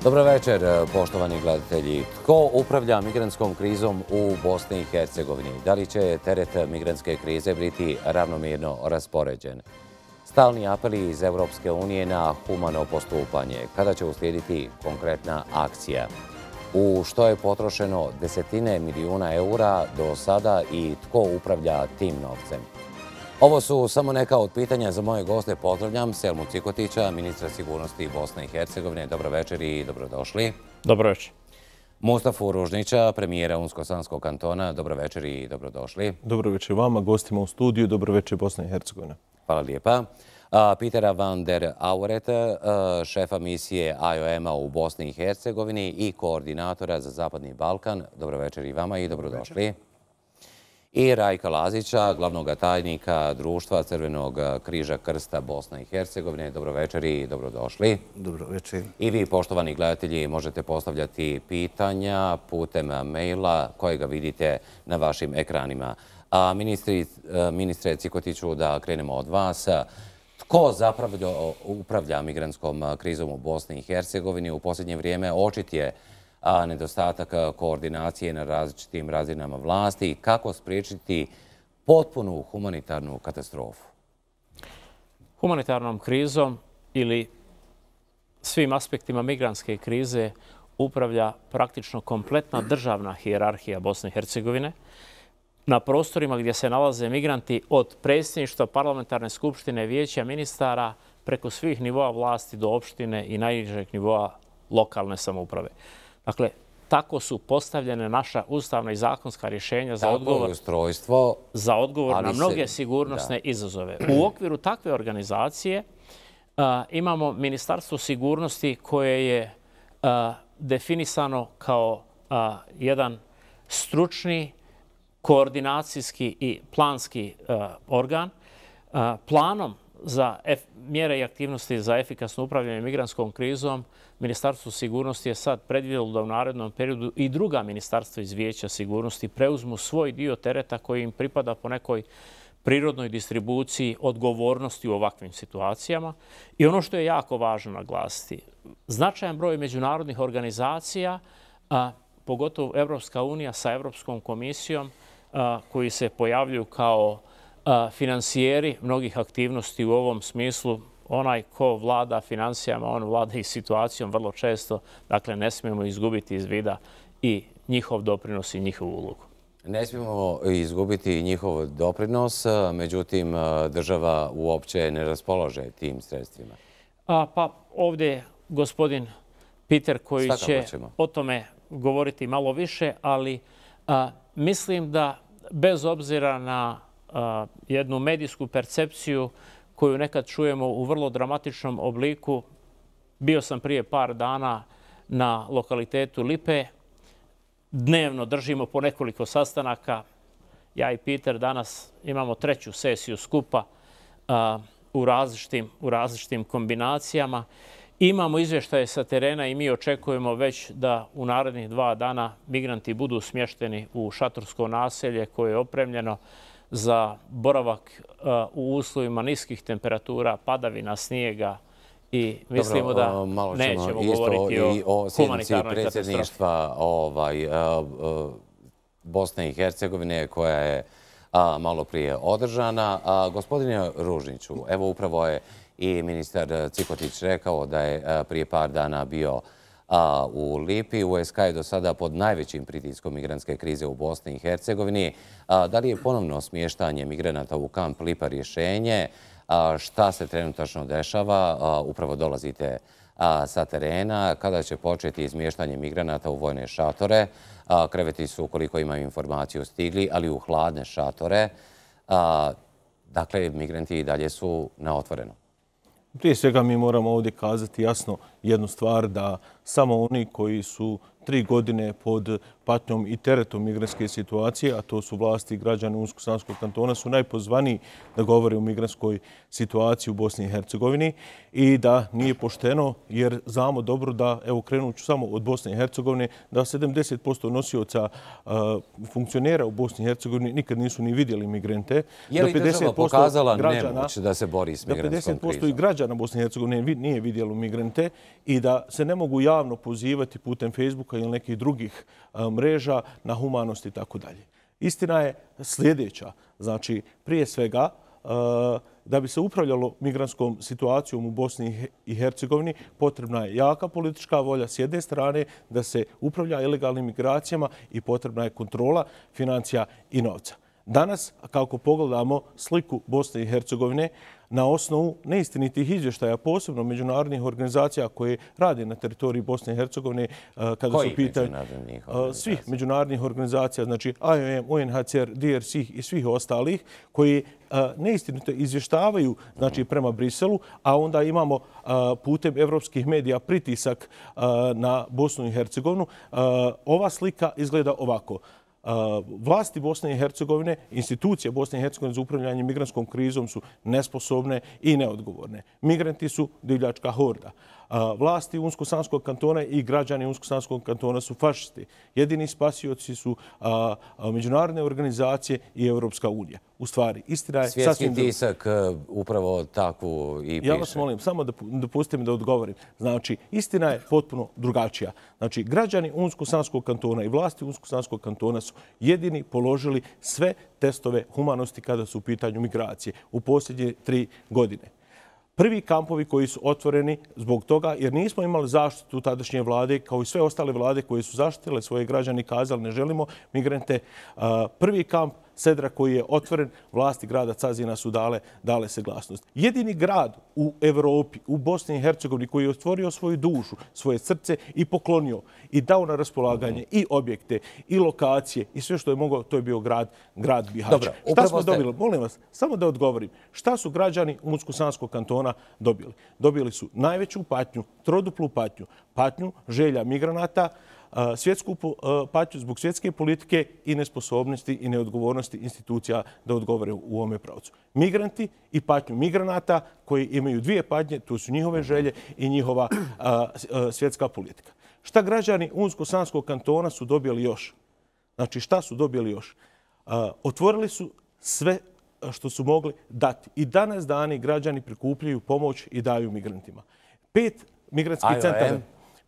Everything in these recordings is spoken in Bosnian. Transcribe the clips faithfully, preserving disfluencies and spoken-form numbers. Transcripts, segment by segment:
Dobro večer, poštovani gledatelji. Tko upravlja migrantskom krizom u Bosni i Hercegovini? Da li će teret migrantske krize biti ravnomjerno raspoređen? Stalni apeli iz Evropske unije na humano postupanje. Kada će uslijediti konkretna akcija? U što je potrošeno desetine milijuna eura do sada i tko upravlja tim novcem? Ovo su samo neka od pitanja za moje goste. Pozdravljam Selmu Cikotića, ministra sigurnosti Bosne i Hercegovine. Dobro večer i dobrodošli. Dobro večer. Mustafu Ružnića, premijera Unsko-Sanskog kantona. Dobro večer i dobrodošli. Dobro večer vama, gostima u studiju. Dobro večer Bosna i Hercegovina. Hvala lijepa. Petera van der Auret, šefa misije I O M-a u Bosni i Hercegovini i koordinatora za Zapadni Balkan. Dobro večer i vama i dobrodošli. I Rajka Lazića, glavnog tajnika Društva Crvenog križa krsta Bosne i Hercegovine. Dobro večer i dobrodošli. Dobro večer. I vi, poštovani gledatelji, možete postavljati pitanja putem maila kojega vidite na vašim ekranima. Ministre Cikotiću, da krenemo od vas. Tko zapravo upravlja migrantskom krizom u Bosni i Hercegovini? U posljednje vrijeme očit je nedostatak koordinacije na različitim razinama vlasti i kako spriječiti potpunu humanitarnu katastrofu? Humanitarnom krizom ili svim aspektima migrantske krize upravlja praktično kompletna državna hijerarhija Bosne i Hercegovine. Na prostorima gdje se nalaze migranti od predsjedništva, parlamentarne skupštine, vijeća ministara preko svih nivoa vlasti do opštine i najnižeg nivoa lokalne samouprave. Dakle, tako su postavljene naša ustavna i zakonska rješenja za odgovor, za odgovor na mnoge sigurnosne izazove. U okviru takve organizacije imamo Ministarstvo sigurnosti koje je definisano kao jedan stručni, koordinacijski i planski organ. Planom za mjere i aktivnosti za efikasno upravljanje migrantskom krizom Ministarstvo sigurnosti je sad predvidjelo da u narednom periodu i druga ministarstva iz Vijeća sigurnosti preuzmu svoj dio tereta koji im pripada po nekoj prirodnoj distribuciji odgovornosti u ovakvim situacijama. I ono što je jako važno naglasiti, značajan broj međunarodnih organizacija, pogotovo Evropska unija sa Evropskom komisijom, koji se pojavljuju kao finansijeri mnogih aktivnosti u ovom smislu. Onaj ko vlada financijama, on vlada i situacijom vrlo često. Dakle, ne smijemo izgubiti iz vida i njihov doprinos i njihovu ulogu. Ne smijemo izgubiti njihov doprinos, međutim, država uopće ne raspolaže tim sredstvima. Pa ovdje je gospodin Peter koji će o tome govoriti malo više, ali mislim da bez obzira na jednu medijsku percepciju koju nekad čujemo u vrlo dramatičnom obliku, bio sam prije par dana na lokalitetu Lipe. Dnevno držimo po nekoliko sastanaka. Ja i Peter danas imamo treću sesiju skupa u različitim, u različitim kombinacijama. Imamo izvještaje sa terena i mi očekujemo već da u narednih dva dana migranti budu smješteni u šatorsko naselje koje je opremljeno za boravak u uslovima niskih temperatura, padavina, snijega i mislimo da nećemo govoriti o humanitarnoj katastrofi. Predsjedništva Bosne i Hercegovine koja je malo prije održana. Gospodine Ružniću, evo upravo je i ministar Cikotić rekao da je prije par dana bio u Lipi. U S K je do sada pod najvećim pritiskom migrantske krize u Bosni i Hercegovini. Da li je ponovno smještanje migranata u kamp Lipa rješenje? Šta se trenutačno dešava? Upravo dolazite sa terena. Kada će početi izmještanje migranata u vojne šatore? Kreveti su, koliko imam informaciju, stigli, ali u hladne šatore. Dakle, migranti i dalje su na otvoreno. Prije svega mi moramo ovdje kazati jasno jednu stvar, da samo oni koji su tri godine pod patnjom i teretom migrantske situacije, a to su vlasti i građani Unsko-Sanskog kantona, su najpozvaniji da govore o migrantskoj situaciji u Bosni i Hercegovini i da nije pošteno, jer znamo dobro da, evo krenut ću samo od Bosne i Hercegovine, da sedamdeset posto nosioca funkcionera u Bosni i Hercegovini nikad nisu ni vidjeli migrante. Je li država pokazala nemoć da se bori s migrantskom krizom? Da pedeset posto i građana Bosne i Hercegovine nije vidjelo migrante i da se ne mogu javno pozivati putem Facebooka ili nekih drugih mreža na humanost i tako dalje. Istina je sljedeća. Znači, prije svega, da bi se upravljalo migrantskom situacijom u Bosni i Hercegovini, potrebna je jaka politička volja s jedne strane da se upravlja ilegalnim migracijama i potrebna je kontrola financija i novca. Danas, kako pogledamo sliku Bosne i Hercegovine, na osnovu neistinitih izvještaja, posebno međunarodnih organizacija koje rade na teritoriji Bosne i Hercegovine, kada su pitanje svih međunarodnih organizacija, znači I O M, U N H C R, D R C i svih ostalih, koji neistinito izvještavaju znači, prema Briselu, a onda imamo putem evropskih medija pritisak na Bosnu i Hercegovinu. Ova slika izgleda ovako. Vlasti Bosne i Hercegovine, institucije Bosne i Hercegovine za upravljanje migrantskom krizom su nesposobne i neodgovorne. Migranti su divljačka horda. Vlasti Unsko-Sanskog kantona i građani Unsko-Sanskog kantona su fašisti. Jedini spasioci su međunarodne organizacije i Europska unija. U stvari, istina je svjetski sasvim... Svjetski tisak upravo takvu i piše. Ja vas molim, samo da dopustite mi da odgovorim. Znači, istina je potpuno drugačija. Znači, građani Unsko-Sanskog kantona i vlasti Unsko-Sanskog kantona su jedini položili sve testove humanosti kada su u pitanju migracije u posljednje tri godine. Prvi kampovi koji su otvoreni zbog toga, jer nismo imali zaštitu tadašnje vlade, kao i sve ostale vlade koje su zaštitile svoje građane i kazali ne želimo migrante. Prvi kamp Sedra koji je otvoren, vlasti grada Cazina su dale, dale saglasnost. Jedini grad u Evropi, u Bosni i Hercegovini koji je otvorio svoju dušu, svoje srce i poklonio i dao na raspolaganje i objekte i lokacije i sve što je mogao, to je bio grad, grad Bihać. Dobro, šta smo ste... dobili? Molim vas, samo da odgovorim. Šta su građani Unsko-Sanskog kantona dobili? Dobili su najveću patnju, troduplu patnju, patnju želja migranata, svjetsku patnju zbog svjetske politike i nesposobnosti i neodgovornosti institucija da odgovore u ovome pravcu. Migranti i patnju migranata koji imaju dvije patnje, to su njihove želje i njihova svjetska politika. Šta građani Unsko-Sanskog kantona su dobili još? Znači šta su dobili još? Otvorili su sve što su mogli dati. I danas dani građani prikupljaju pomoć i daju migrantima. Pet migrantskih centara...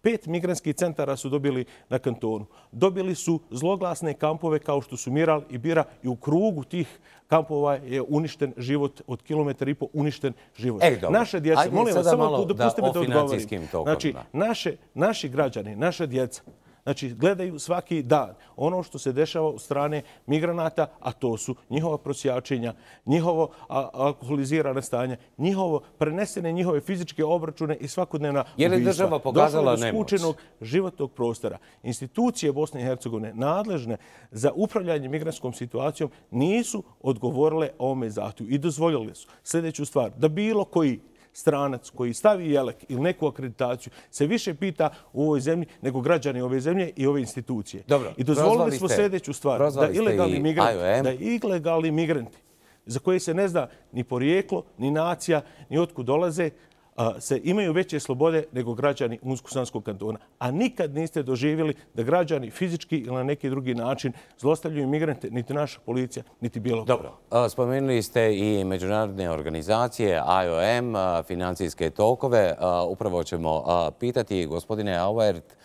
Pet migrantskih centara su dobili na kantonu. Dobili su zloglasne kampove kao što su Miral i Bira i u krugu tih kampova je uništen život od kilometra i po uništen život. E, naše djece, molim vas, samo dopustite me da odgovorim. Znači, naše, naši građani, naša djeca, znači, gledaju svaki dan ono što se dešava od strane migranata, a to su njihova prosjačenja, njihovo alkoholizirane stanje, njihovo prenesene njihove fizičke obračune i svakodnevna ubistva. Je li država pokazala nemoć? Došlo do skučenog životnog prostora. Institucije Bosne i Hercegovine nadležne za upravljanje migrantskom situacijom nisu odgovorile ovome zahtjevu i dozvoljili su sljedeću stvar, da bilo koji stranac koji stavi jelek ili neku akreditaciju se više pita u ovoj zemlji nego građani ove zemlje i ove institucije. Dobro, I dozvolili smo sljedeću stvar, da ilegalni migranti, da ilegalni migranti za koje se ne zna ni porijeklo, ni nacija, ni otkud dolaze, se imaju veće slobode nego građani Unsko-Sanskog kantona. A nikad niste doživjeli da građani fizički ili na neki drugi način zlostavljaju migrante, niti naša policija, niti bilo ko. Dobro, spomenuli ste i međunarodne organizacije, I O M, financijske tokove. Upravo ćemo pitati, gospodine Auert,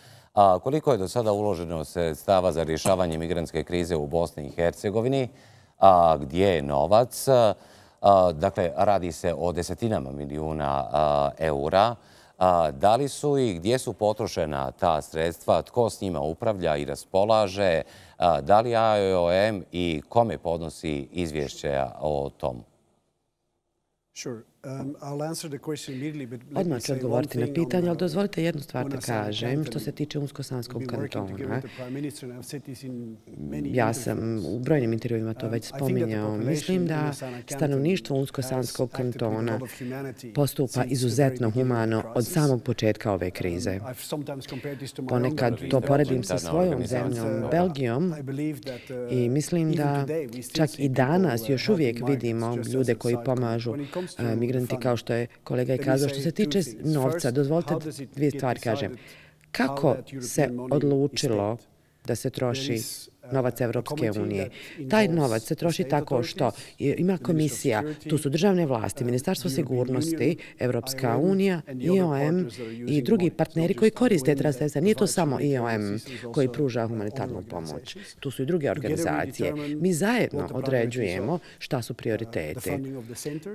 koliko je do sada uloženo sredstava za rješavanje migrantske krize u Bosni i Hercegovini, gdje je novac? Dakle, radi se o desetinama milijuna eura. Da li su i gdje su potrošena ta sredstva? Tko s njima upravlja i raspolaže? Da li I O M i kome podnosi izvješće o tomu? Odmah ću odgovoriti na pitanje, ali dozvolite jednu stvar da kažem što se tiče Unsko-Sanskog kantona. Ja sam u brojnim intervjuima to već spominjao. Mislim da stanovništvo Unsko-Sanskog kantona postupa izuzetno humano od samog početka ove krize. Ponekad to poredim sa svojom zemljom, Belgijom, i mislim da čak i danas još uvijek vidimo ljude koji pomažu migranti, kao što je kolega i kazao. Što se tiče novca, dozvolite dvije stvari kažem. Kako se odlučilo da se troši novac Evropske unije. Taj novac se troši tako što ima komisija, tu su državne vlasti, Ministarstvo sigurnosti, Evropska unija, I O M i drugi partneri koji koriste ta sredstva. Nije to samo I O M koji pruža humanitarnu pomoć. Tu su i druge organizacije. Mi zajedno određujemo šta su prioritete.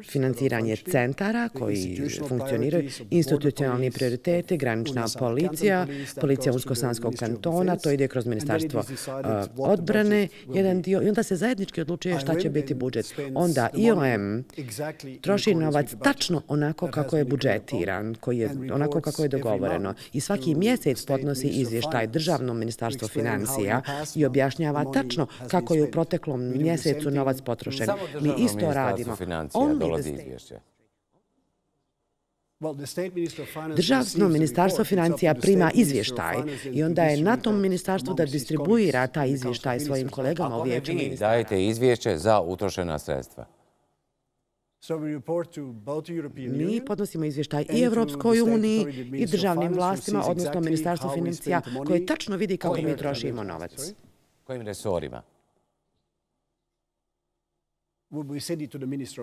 Financiranje centara koji funkcioniraju, institucionalni prioriteti, granična policija, policija Unsko-Sanskog kantona, to ide kroz Ministarstvo odbrane, jedan dio, i onda se zajednički odlučuje šta će biti budžet. Onda I O M troši novac tačno onako kako je budžetiran, koji je onako kako je dogovoreno. I svaki mjesec podnosi izvještaj Državnom ministarstvu financija i objašnjava tačno kako je u proteklom mjesecu novac potrošen. Mi isto radimo. Državno ministarstvo financija prima izvještaj i onda je na tom ministarstvu da distribuira taj izvještaj svojim kolegama u vijeću ministara. Dajete izvješće za utrošena sredstva. Mi podnosimo izvještaj i Evropskoj uniji i državnim vlastima, odnosno ministarstvu financija, koje tačno vidi kako mi trošimo novac. Kojim resorima?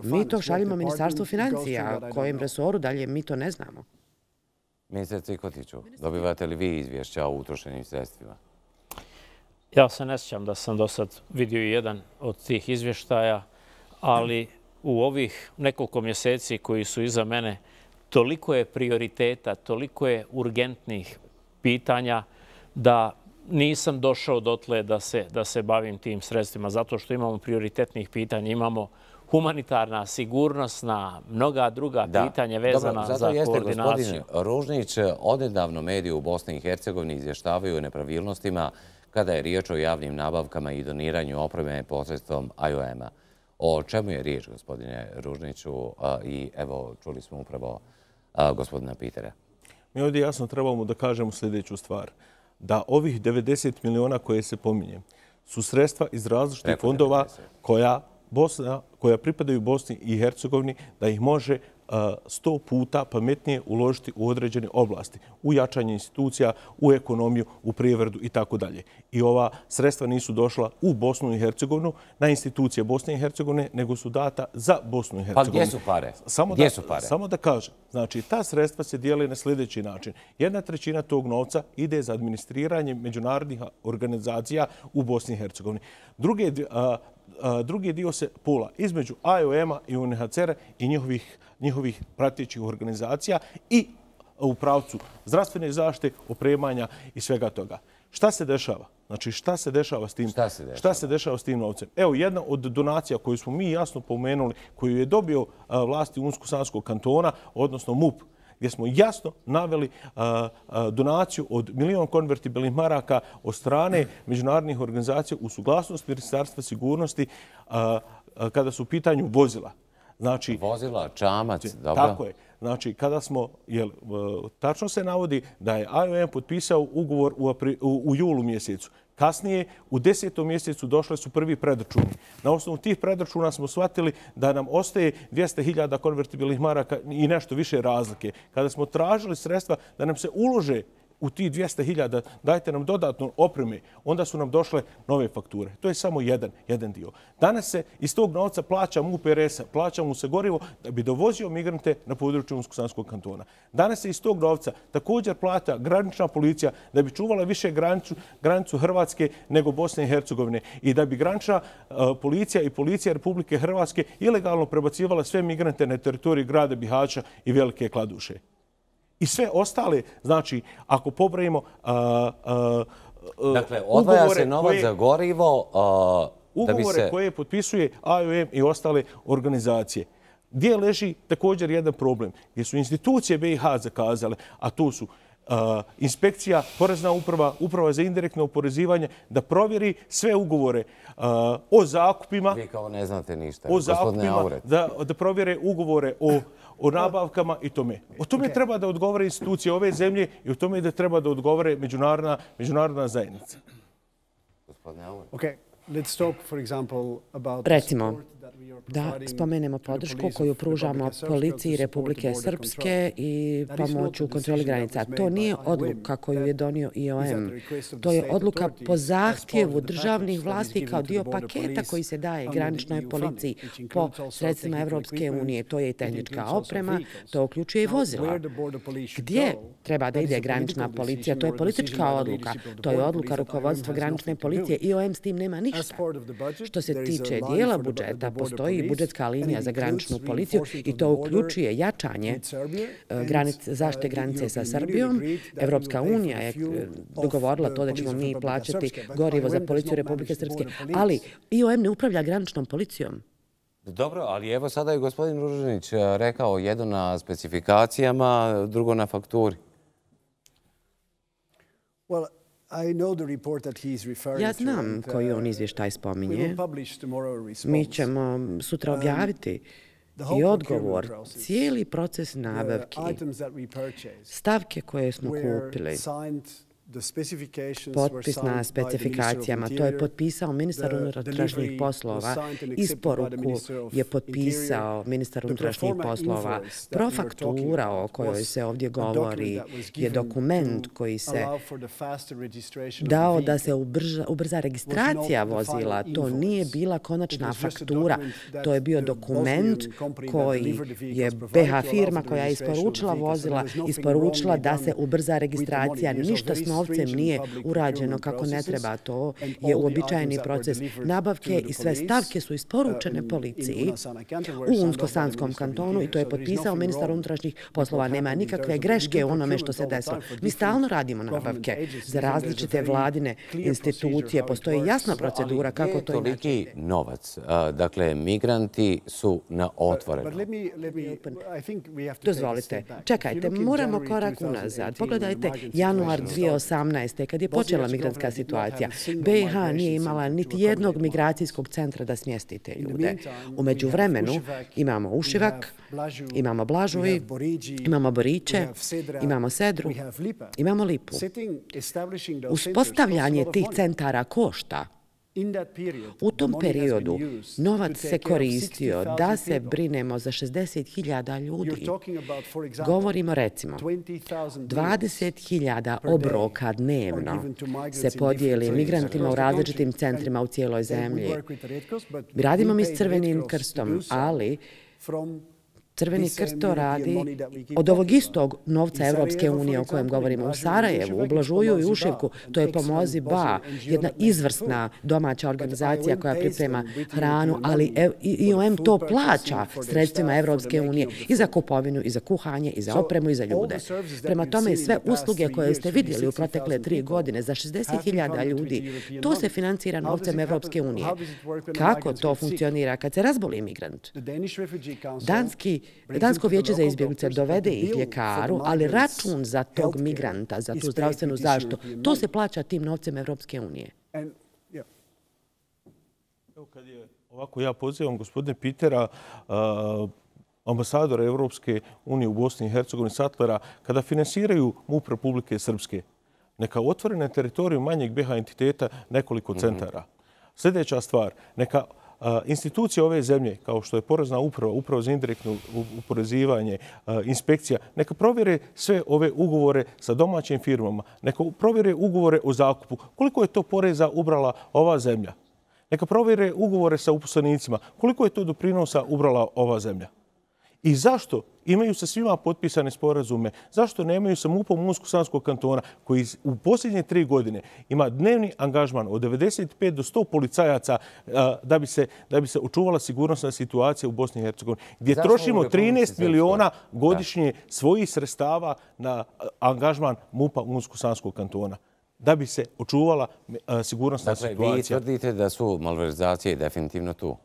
Mi to šaljimo ministarstvu financija, kojem resoru dalje mi to ne znamo. Ministar Cikotiću, dobivate li vi izvješća o utrošenim sredstvima? Ja se ne sjećam da sam do sad vidio i jedan od tih izvještaja, ali u ovih nekoliko mjeseci koji su iza mene, toliko je prioriteta, toliko je urgentnih pitanja da nisam došao dotle da se, da se bavim tim sredstvima, zato što imamo prioritetnih pitanja, imamo humanitarna, sigurnosna, mnoga druga pitanja vezana za koordinaciju. Zato jeste, gospodin Ružnić, odnedavno mediji u Bosni i Hercegovini izvještavaju o nepravilnostima kada je riječ o javnim nabavkama i doniranju opreme posredstvom I O M-a. O čemu je riječ, gospodine Ružniću? I evo, čuli smo upravo gospodina Pitera. Mi ovdje jasno trebamo da kažemo sljedeću stvar. Da ovih devedeset miliona koje se pominje su sredstva iz različitih fondova koja, Bosna, koja pripadaju Bosni i Hercegovini, da ih može sto puta pametnije uložiti u određene oblasti, u jačanje institucija, u ekonomiju, u privredu i tako dalje. I ova sredstva nisu došla u Bosnu i Hercegovinu, na institucije Bosne i Hercegovine, nego su data za Bosnu i Hercegovinu. Pa gdje su pare? Samo gdje da, su pare? Samo da kažem, znači ta sredstva se dijele na sljedeći način. Jedna trećina tog novca ide za administriranje međunarodnih organizacija u Bosni i Hercegovini. Druge, a, a, drugi dio se pula između I O M-a i U N H C R-a i njihovih njihovih pratećih organizacija i u pravcu zdravstvene zaštite, opremanja i svega toga. Šta se dešava? Znači, šta se dešava s tim? Šta se dešava? Šta se dešava s tim novcem? Evo, jedna od donacija koju smo mi jasno pomenuli, koju je dobio vlasti Unsko-Sanskog kantona, odnosno M U P, gdje smo jasno naveli a, a, donaciju od milion konvertibilnih maraka od strane međunarodnih organizacija u suglasnost Ministarstva sigurnosti a, a, kada su u pitanju vozila. Znači, vozila, čamac, dobro. Tako je. Znači, kada smo, jel, tačno se navodi da je I O M potpisao ugovor u, apri, u, u julu mjesecu. Kasnije, u desetom mjesecu došle su prvi predračuni. Na osnovu tih predračuna smo shvatili da nam ostaje dvjesto hiljada konvertibilnih maraka i nešto više razlike. Kada smo tražili sredstva da nam se ulože u tih dvjesto hiljada, dajte nam dodatno opreme, onda su nam došle nove fakture. To je samo jedan, jedan dio. Danas se iz tog novca plaća M U P R S-a, plaća mu se gorivo da bi dovozio migrante na području Unsko-Sanskog kantona. Danas se iz tog novca također plaća granična policija da bi čuvala više granicu, granicu Hrvatske nego Bosne i Hercegovine i da bi granična uh, policija i policija Republike Hrvatske ilegalno prebacivala sve migrante na teritoriji grada Bihaća i Velike Kladuše. I sve ostale, znači, ako pobrojimo uh, uh, dakle, odvaja se novac koje, za gorivo uh, ugovore da bi se... koje potpisuje I O M i ostale organizacije. Gdje leži također jedan problem? Gdje su institucije B i H zakazale, a to su uh, inspekcija, porezna uprava, uprava za indirektno oporezivanje, da provjeri sve ugovore uh, o zakupima. Vi kao ne znate ništa, o zakupima, da, da provjere ugovore o o nabavkama i tome. O tome okay. treba da odgovore institucije ove zemlje i o tome da treba da odgovore međunarodna, međunarodna zajednica. Gospodine Aure. Okay. Let's talk, for example, about Recimo, da spomenemo podršku koju pružamo policiji Republike Srpske i pomoć u kontroli granica. To nije odluka koju je donio I O M. To je odluka po zahtjevu državnih vlasti kao dio paketa koji se daje graničnoj policiji po sredstvima Evropske unije. To je i tehnička oprema, to uključuje i vozila. Gdje treba da ide granična policija? To je politička odluka. To je odluka rukovodstva granične policije. I O M s tim nema ništa. Što se tiče dijela budžeta, postoji budžetska linija za graničnu policiju i to uključuje jačanje zaštite granice sa Srbijom. Evropska unija je dogovorila to da ćemo mi plaćati gorivo za policiju Republike Srpske, ali I O M ne upravlja graničnom policijom. Dobro, ali evo sada je gospodin Ružinić rekao jedno na specifikacijama, drugo na fakturi. Ja znam koji on izvještaj spominje. Mi ćemo sutra objaviti i odgovor, cijeli proces nabavki, stavke koje smo kupili, potpis na specifikacijama. To je potpisao ministar unutrašnjih poslova. Isporuku je potpisao ministar unutrašnjih poslova. Profaktura o kojoj se ovdje govori je dokument koji se dao da se ubrza registracija vozila. To nije bila konačna faktura. To je bio dokument koji je B H firma koja je isporučila vozila, isporučila da se ubrza registracija. Ništa s novcem nije urađeno kako ne treba. To je uobičajeni proces nabavke i sve stavke su isporučene policiji u Unsko-Sanskom kantonu i to je potpisao ministar unutrašnjih poslova. Nema nikakve greške u onome što se desilo. Mi stalno radimo nabavke za različite vladine institucije. Postoji jasna procedura kako to inače. Toliki novac. Dakle, migranti su na otvorenom. Dozvolite. Čekajte, moramo korak unazad. Pogledajte januar dvije tisuće osamnaeste. kad je počela migrantska situacija. B i H nije imala niti jednog migracijskog centra da smjesti te ljude. U međuvremenu imamo Ušivak, imamo Blažuj, imamo Boriće, imamo Sedru, imamo Lipu. Uspostavljanje tih centara košta. U tom periodu novac se koristio da se brinemo za šezdeset hiljada ljudi. Govorimo recimo, dvadeset hiljada obroka dnevno se podijeli migrantima u različitim centrima u cijeloj zemlji. Radimo mi s Crvenim krstom, ali Crveni krst to radi od ovog istog novca Evropske unije o kojem govorimo u Sarajevu, u Blažuju i Ušivku. To je Pomozi Ba, jedna izvrsna domaća organizacija koja priprema hranu, ali I O M to plaća sredstvima Evropske unije i za kupovinu, i za kuhanje, i za opremu, i za ljude. Prema tome, sve usluge koje ste vidjeli u protekle tri godine za šezdeset hiljada ljudi, to se financira novcem Evropske unije. Kako to funkcionira kad se razboli imigrant? Danski Dansko vijeće za izbjeglice dovede ih ljekaru, ali račun za tog migranta, za tu zdravstvenu zaštitu, to se plaća tim novcem Evropske unije. Ovako ja pozivam gospodine Pitera, ambasadora Evropske unije u Bosni i Hercegovini, Satlera, kada finansiraju MUP Republike Srpske, neka otvore na teritoriju manjeg B H entiteta nekoliko centara. Sljedeća stvar, neka institucije ove zemlje, kao što je porezna uprava, uprava za indirektno uporezivanje, inspekcija, neka provjere sve ove ugovore sa domaćim firmama, neka provjere ugovore o zakupu, koliko je to poreza ubrala ova zemlja. Neka provjere ugovore sa uposlenicima, koliko je to doprinosa ubrala ova zemlja. I zašto imaju sa svima potpisane sporazume? Zašto nemaju sa MUP-om Unsko-Sanskog kantona koji u posljednje tri godine ima dnevni angažman od devedeset pet do sto policajaca da bi se, da bi se očuvala sigurnosna situacija u Bosni i Hercegovini, gdje zašto trošimo trinaest miliona godišnje svojih sredstava na angažman MUP-a Unsko-Sanskog kantona da bi se očuvala sigurnosna dakle, situacija. Vi tvrdite da su malverzacije definitivno tu?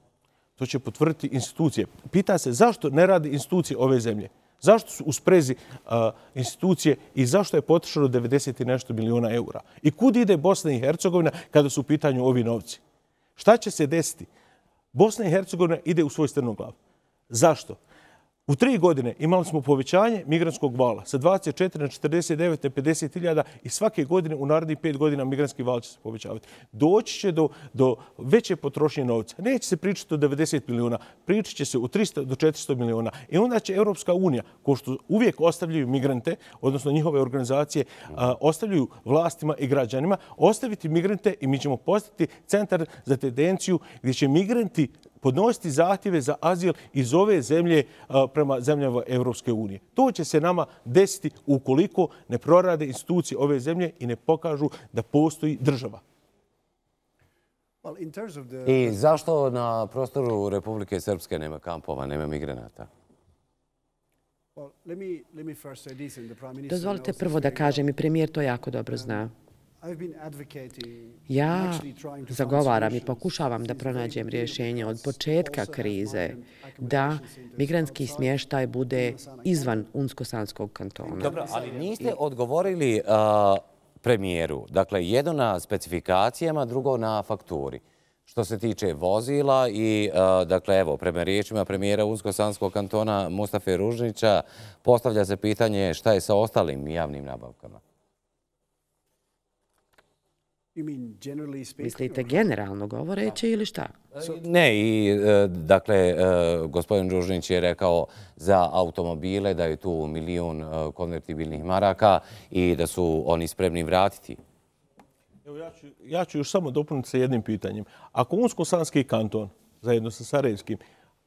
To će potvrditi institucije. Pita se zašto ne radi institucije ove zemlje? Zašto su u sprezi uh, institucije i zašto je potrošeno devedeset i nešto miliona eura? I kud ide Bosna i Hercegovina kada su u pitanju ovi novci? Šta će se desiti? Bosna i Hercegovina ide u svoj strnoglav. Zašto? U tri godine imali smo povećanje migrantskog vala sa dvadeset četiri na četrdeset devet na pedeset hiljada i svake godine u narednih pet godina migrantski val će se povećavati. Doći će do, do veće potrošnje novca. Neće se pričati o devedeset milijuna, pričat će se o tristo do četiristo milijuna. I onda će Europska unija, ko što uvijek ostavljaju migrante, odnosno njihove organizacije, a, ostavljaju vlastima i građanima, ostaviti migrante i mi ćemo postati centar za tendenciju gdje će migranti podnositi zahtjeve za azil iz ove zemlje prema zemljama Evropske unije. To će se nama desiti ukoliko ne prorade institucije ove zemlje i ne pokažu da postoji država. I zašto na prostoru Republike Srpske nema kampova, nema migranata? Dozvolite prvo da kažem, i premijer to jako dobro zna. Ja zagovaram i pokušavam da pronađem rješenje od početka krize da migrantski smještaj bude izvan Unsko-Sanskog kantona. Dobro, ali niste odgovorili premijeru. Dakle, jedno na specifikacijama, drugo na fakturi. Što se tiče vozila i, dakle, evo, prema riječima premijera Unsko-Sanskog kantona Mustafe Ružnića, postavlja se pitanje šta je sa ostalim javnim nabavkama. Mislite generalno govoreći ili šta? Ne, i dakle, gospodin Ružnić je rekao za automobile da je tu milijun konvertibilnih maraka i da su oni spremni vratiti. Evo, ja ću, ja ću još samo dopuniti sa jednim pitanjem. Ako Unsko-Sanski kanton, zajedno sa Sarajevskim,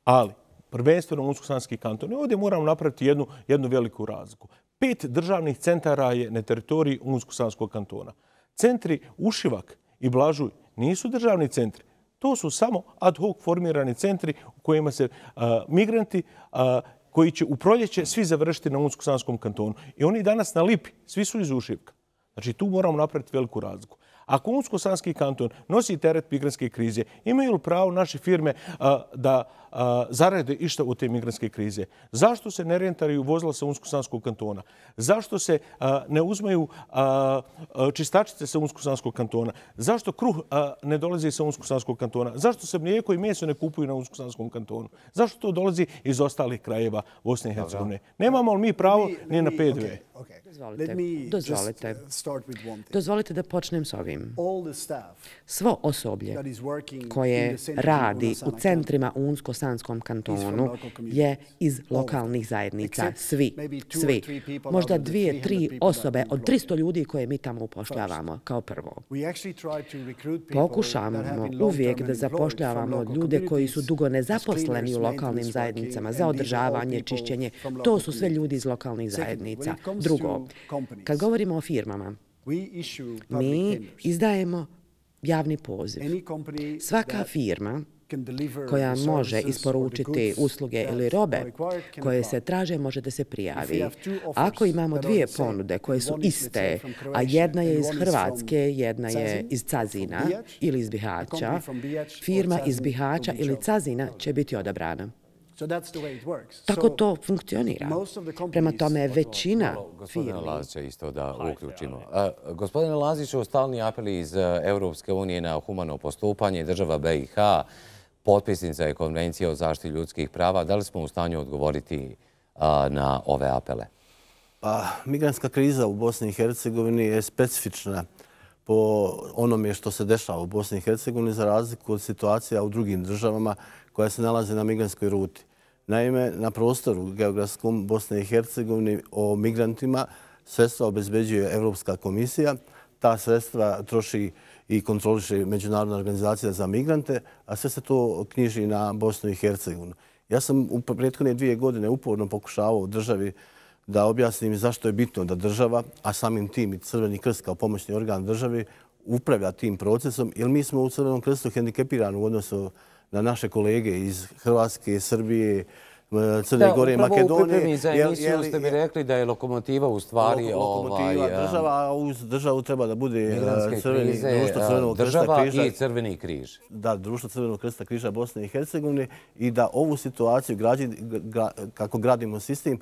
ali prvenstveno Unsko-Sanski kanton, i ovdje moramo napraviti jednu, jednu veliku razliku. Pet državnih centara je na teritoriji Unsko-Sanskog kantona. Centri Ušivak i Blažuj nisu državni centri. To su samo ad hoc formirani centri u kojima se a, migranti a, koji će u proljeće svi završiti na Unsko-Sanskom kantonu. I oni danas na Lipi, svi su iz Ušivka. Znači tu moramo napraviti veliku razliku. Ako Unsko-Sanski kanton nosi teret migrantske krize, imaju li pravo naše firme a, da a, zarade išta od te migrantske krize? Zašto se ne rentariju vozila sa Unsko-Sanskog kantona? Zašto se a, ne uzmaju a, a, čistačice sa Unsko-Sanskog kantona? Zašto kruh a, ne dolazi sa Unsko-Sanskog kantona? Zašto se mlijeko i meso ne kupuju na Unsko-Sanskom kantonu? Zašto to dolazi iz ostalih krajeva Bosne i Hercegovine? Nemamo li mi pravo ni na P D V? Dozvolite, dozvolite. Dozvolite da počnem s ovim. Svo osoblje koje radi u centrima u Unsko-Sanskom kantonu je iz lokalnih zajednica. Svi, svi. Možda dvije, tri osobe od tristo ljudi koje mi tamo upošljavamo kao prvo. Pokušavamo uvijek da zapošljavamo ljude koji su dugo nezaposleni u lokalnim zajednicama za održavanje, čišćenje. To su sve ljudi iz lokalnih zajednica. Drugo, kad govorimo o firmama, mi izdajemo javni poziv. Svaka firma koja može isporučiti usluge ili robe koje se traže može da se prijavi. Ako imamo dvije ponude koje su iste, a jedna je iz Hrvatske, jedna je iz Cazina ili iz Bihaća, firma iz Bihaća ili Cazina će biti odabrana. Tako to funkcionira. Prema tome, većina firmi... Gospodine Lazića, isto da uključimo. Gospodine Laziću, stalni apeli iz Europske unije na humano postupanje država B i H, potpisnica je Konvencija o zaštiti ljudskih prava. Da li smo u stanju odgovoriti na ove apele? Pa, migrantska kriza u Bosni i Hercegovini je specifična po onome što se dešava u Bosni i Hercegovini za razliku od situacija u drugim državama koja se nalaze na migrantskoj ruti. Naime, na prostoru geografskom Bosne i Hercegovine o migrantima sredstva obezbeđuje Evropska komisija. Ta sredstva troši i kontroliše Međunarodna organizacija za migrante, a sve se to knjiži na Bosnu i Hercegovinu. Ja sam u prethodne dvije godine uporno pokušavao u državi da objasnim zašto je bitno da država, a samim tim i Crveni krst kao pomoćni organ državi, upravlja tim procesom, jer mi smo u Crvenom krstu hendikepirani u odnosu na naše kolege iz Hrvatske, Srbije, Crne Gore i Makedonije. Upravo u pripremi za emisiju ste mi rekli da je lokomotiva u stvari... Lokomotiva država, a uz državu treba da bude društvo Crvenog krsta križa. Država i Crveni križ. Da, društvo Crvenog krsta križa Bosne i Hercegovine i da ovu situaciju, kako gradimo sistem,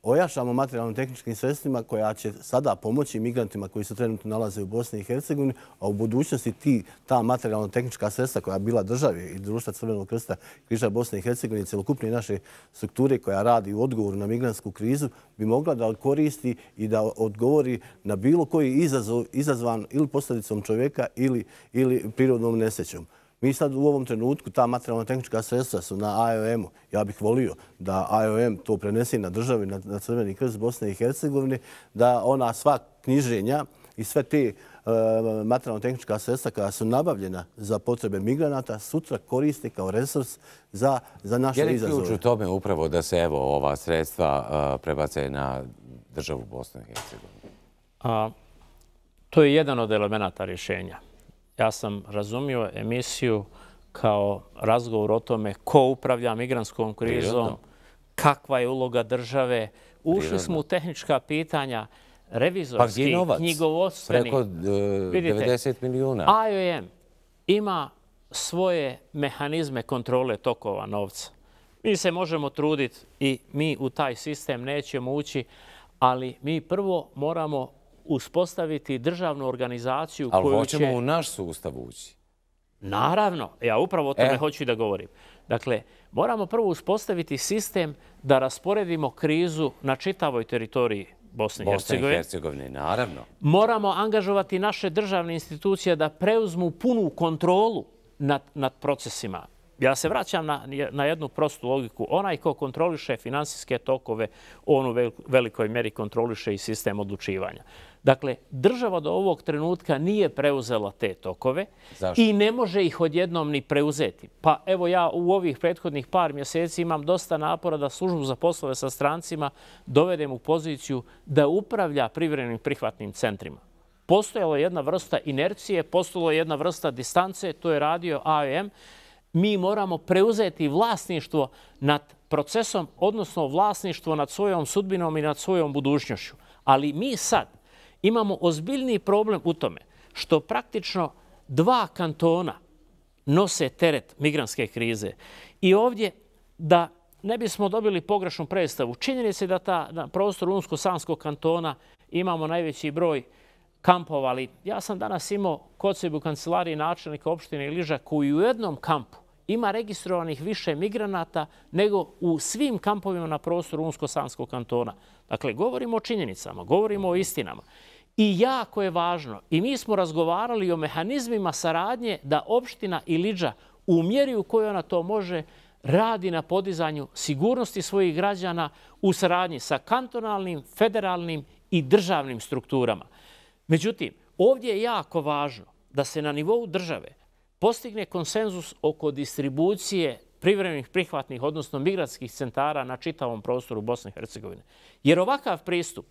ojačamo materijalno-tehničkim sredstvima koja će sada pomoći migrantima koji se trenutno nalaze u Bosni i Hercegovini, a u budućnosti ti, ta materijalno-tehnička sredstva koja je bila države i Društva Crvenog krsta Križa Bosne i Hercegovine i celokupne naše strukture koja radi u odgovoru na migrantsku krizu bi mogla da koristi i da odgovori na bilo koji izazov izazvan ili posljedicom čovjeka ili, ili prirodnom nesrećom. Mi sad u ovom trenutku ta materijalno-tehnička sredstva su na A O M-u. Ja bih volio da A O M to prenese na državi, na, na Crveni krst Bosne i Hercegovine, da ona sva knjiženja i sve te e, materijalno-tehnička sredstva koja su nabavljena za potrebe migranata sutra koriste kao resurs za, za naše izazove. Je li ključ u tome upravo da se evo ova sredstva uh, prebace na državu Bosne i Hercegovine? A, to je jedan od elemenata rješenja. Ja sam razumio emisiju kao razgovor o tome ko upravlja migrantskom krizom, Prirodno. kakva je uloga države. Ušli Prirodno. smo u tehnička pitanja, revizorski, pa knjigovodstveni. Preko uh, devedeset milijuna. A O M ima svoje mehanizme kontrole tokova novca. Mi se možemo truditi i mi u taj sistem nećemo ući, ali mi prvo moramo uspostaviti državnu organizaciju ali koju će... Ali hoćemo u naš sustav ući. Naravno. Ja upravo o tome e. hoću da govorim. Dakle, moramo prvo uspostaviti sistem da rasporedimo krizu na čitavoj teritoriji Bosne i Hercegovine. Bosne i Hercegovine, naravno. Moramo angažovati naše državne institucije da preuzmu punu kontrolu nad, nad procesima. Ja se vraćam na, na jednu prostu logiku. Onaj ko kontroliše finansijske tokove, on u velikoj mjeri kontroliše i sistem odlučivanja. Dakle, država do ovog trenutka nije preuzela te tokove. Zašto? I ne može ih odjednom ni preuzeti. Pa evo ja u ovih prethodnih par mjeseci imam dosta napora da službu za poslove sa strancima dovedem u poziciju da upravlja privremenim prihvatnim centrima. Postojala je jedna vrsta inercije, postojala je jedna vrsta distance, to je radio A O M. Mi moramo preuzeti vlasništvo nad procesom, odnosno vlasništvo nad svojom sudbinom i nad svojom budućnošću. Ali mi sad imamo ozbiljni problem u tome što praktično dva kantona nose teret migrantske krize. I ovdje, da ne bismo dobili pogrešnu predstavu, činjenica je da ta, na prostoru Unsko-Sanskog kantona imamo najveći broj kampova, ali ja sam danas imao kod sebe u kancelariji načelnika opštine Iliža koji u jednom kampu ima registrovanih više migranata nego u svim kampovima na prostoru Unsko-Sanskog kantona. Dakle, govorimo o činjenicama, govorimo o istinama. I jako je važno, i mi smo razgovarali o mehanizmima saradnje da opština Ilidža u mjeri u kojoj ona to može radi na podizanju sigurnosti svojih građana u saradnji sa kantonalnim, federalnim i državnim strukturama. Međutim, ovdje je jako važno da se na nivou države postigne konsenzus oko distribucije privremenih prihvatnih, odnosno migrantskih centara na čitavom prostoru Bosne i Hercegovine. Jer ovakav pristup,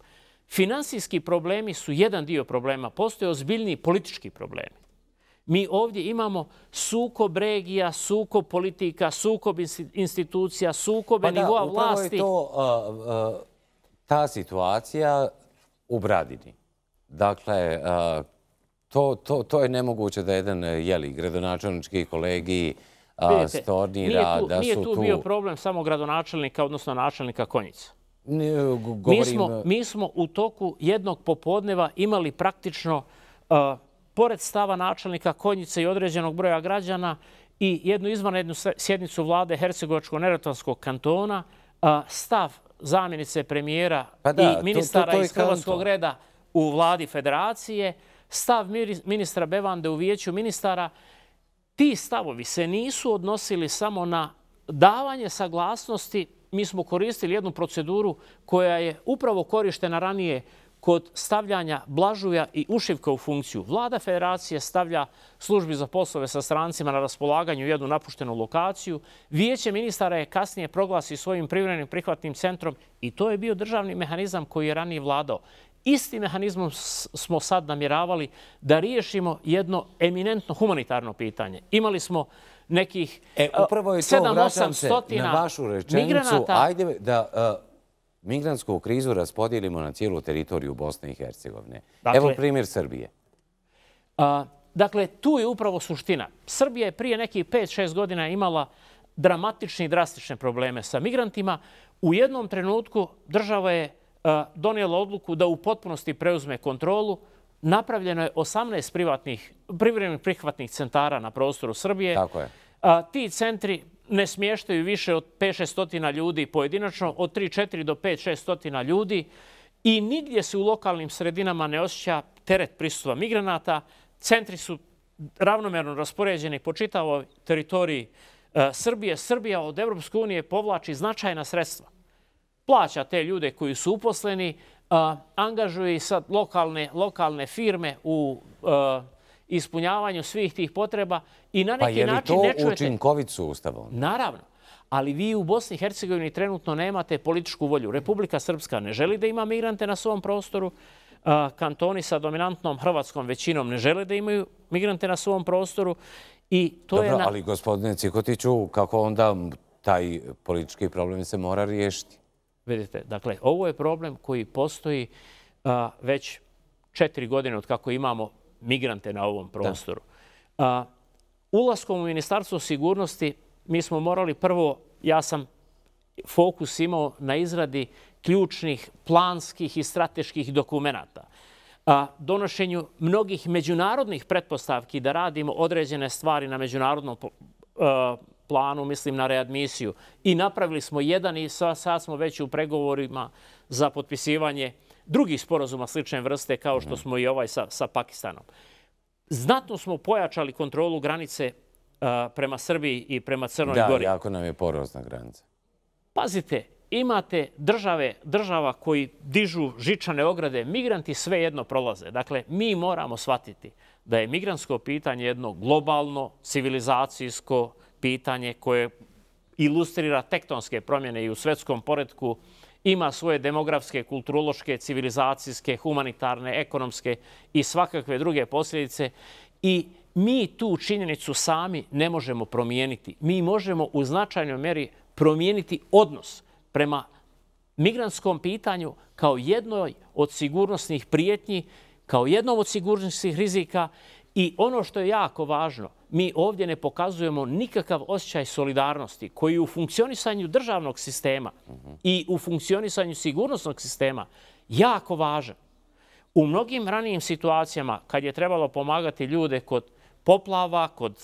finansijski problemi su jedan dio problema, postoje ozbiljni politički problemi. Mi ovdje imamo sukob regija, sukob politika, sukob institucija, sukobe nivoa vlasti. Pa da, upravo je to uh, uh, ta situacija u Bradini. Dakle, uh, to, to, to je nemoguće da jedan jeli, gradonačelnički kolegiji uh, stornira da su tu... Nije tu bio problem samo gradonačelnika, odnosno načelnika Konjica. Govorim... Mi, smo, mi smo u toku jednog popodneva imali praktično, uh, pored stava načelnika Konjice i određenog broja građana, i jednu izvanrednu sjednicu vlade Hercegovačko-Neretvanskog kantona, uh, stav zamjenice premijera pa da, i ministara to, to, to iz Hrvatskog kanton. reda u vladi federacije, stav ministra Bevande u vijeću ministara. Ti stavovi se nisu odnosili samo na davanje saglasnosti. Mi smo koristili jednu proceduru koja je upravo korištena ranije kod stavljanja Blažuja i Ušivka u funkciju. Vlada federacije stavlja službi za poslove sa strancima na raspolaganju jednu napuštenu lokaciju. Vijeće ministara je kasnije proglasi svojim privremenim prihvatnim centrom i to je bio državni mehanizam koji je ranije vladao. Istim mehanizmom smo sad namjeravali da riješimo jedno eminentno humanitarno pitanje. Imali smo nekih e, upravo je to, sedam osam stotina na vašu rečenicu, migranata. Ajde da uh, migrantsku krizu raspodijelimo na cijelu teritoriju Bosne i Hercegovine. Dakle, evo primjer Srbije. A, dakle, tu je upravo suština. Srbija je prije nekih pet šest godina imala dramatične i drastične probleme sa migrantima. U jednom trenutku država je donijela odluku da u potpunosti preuzme kontrolu. Napravljeno je osamnaest privatnih, privremenih prihvatnih centara na prostoru Srbije. Tako je. Ti centri ne smještaju više od pet do šest stotina ljudi pojedinačno, od tri do četiri do pet do šest stotina ljudi i nigdje se u lokalnim sredinama ne osjeća teret prisustva migranata. Centri su ravnomerno raspoređeni po čitavoj teritoriji Srbije. Srbija od Evropske unije povlači značajna sredstva. Plaća te ljude koji su uposleni, angažuje i sad lokalne, lokalne firme u ispunjavanju svih tih potreba i na neki način ne čujete... Pa je li to učinkovit sustav? Naravno. Ali vi u Bosni i Hercegovini trenutno nemate političku volju. Republika Srpska ne želi da ima migrante na svom prostoru. Kantoni sa dominantnom hrvatskom većinom ne žele da imaju migrante na svom prostoru. Dobro, ali gospodine Cikotiću, kako onda taj politički problem se mora riješiti? Vidite, dakle, ovo je problem koji postoji već četiri godine od kako imamo migrante na ovom prostoru. Ulaskom u Ministarstvo sigurnosti mi smo morali prvo, ja sam fokus imao na izradi ključnih planskih i strateških dokumenata, donošenju mnogih međunarodnih pretpostavki da radimo određene stvari na međunarodnom planu, mislim na readmisiju. I napravili smo jedan i sad smo već u pregovorima za potpisivanje drugih sporazuma slične vrste kao što smo i ovaj sa, sa Pakistanom. Znatno smo pojačali kontrolu granice prema Srbiji i prema Crnoj Gori. Da, jako nam je porozna granica. Pazite, imate države, država koji dižu žičane ograde, migranti svejedno prolaze. Dakle, mi moramo shvatiti da je migrantsko pitanje jedno globalno, civilizacijsko pitanje koje ilustrira tektonske promjene i u svetskom poretku, ima svoje demografske, kulturološke, civilizacijske, humanitarne, ekonomske i svakakve druge posljedice. I mi tu činjenicu sami ne možemo promijeniti. Mi možemo u značajnoj mjeri promijeniti odnos prema migrantskom pitanju kao jednoj od sigurnosnih prijetnji, kao jednom od sigurnosnih rizika. I ono što je jako važno, mi ovdje ne pokazujemo nikakav osjećaj solidarnosti koji u funkcionisanju državnog sistema i u funkcionisanju sigurnosnog sistema jako važan. U mnogim ranijim situacijama, kad je trebalo pomagati ljude kod poplava, kod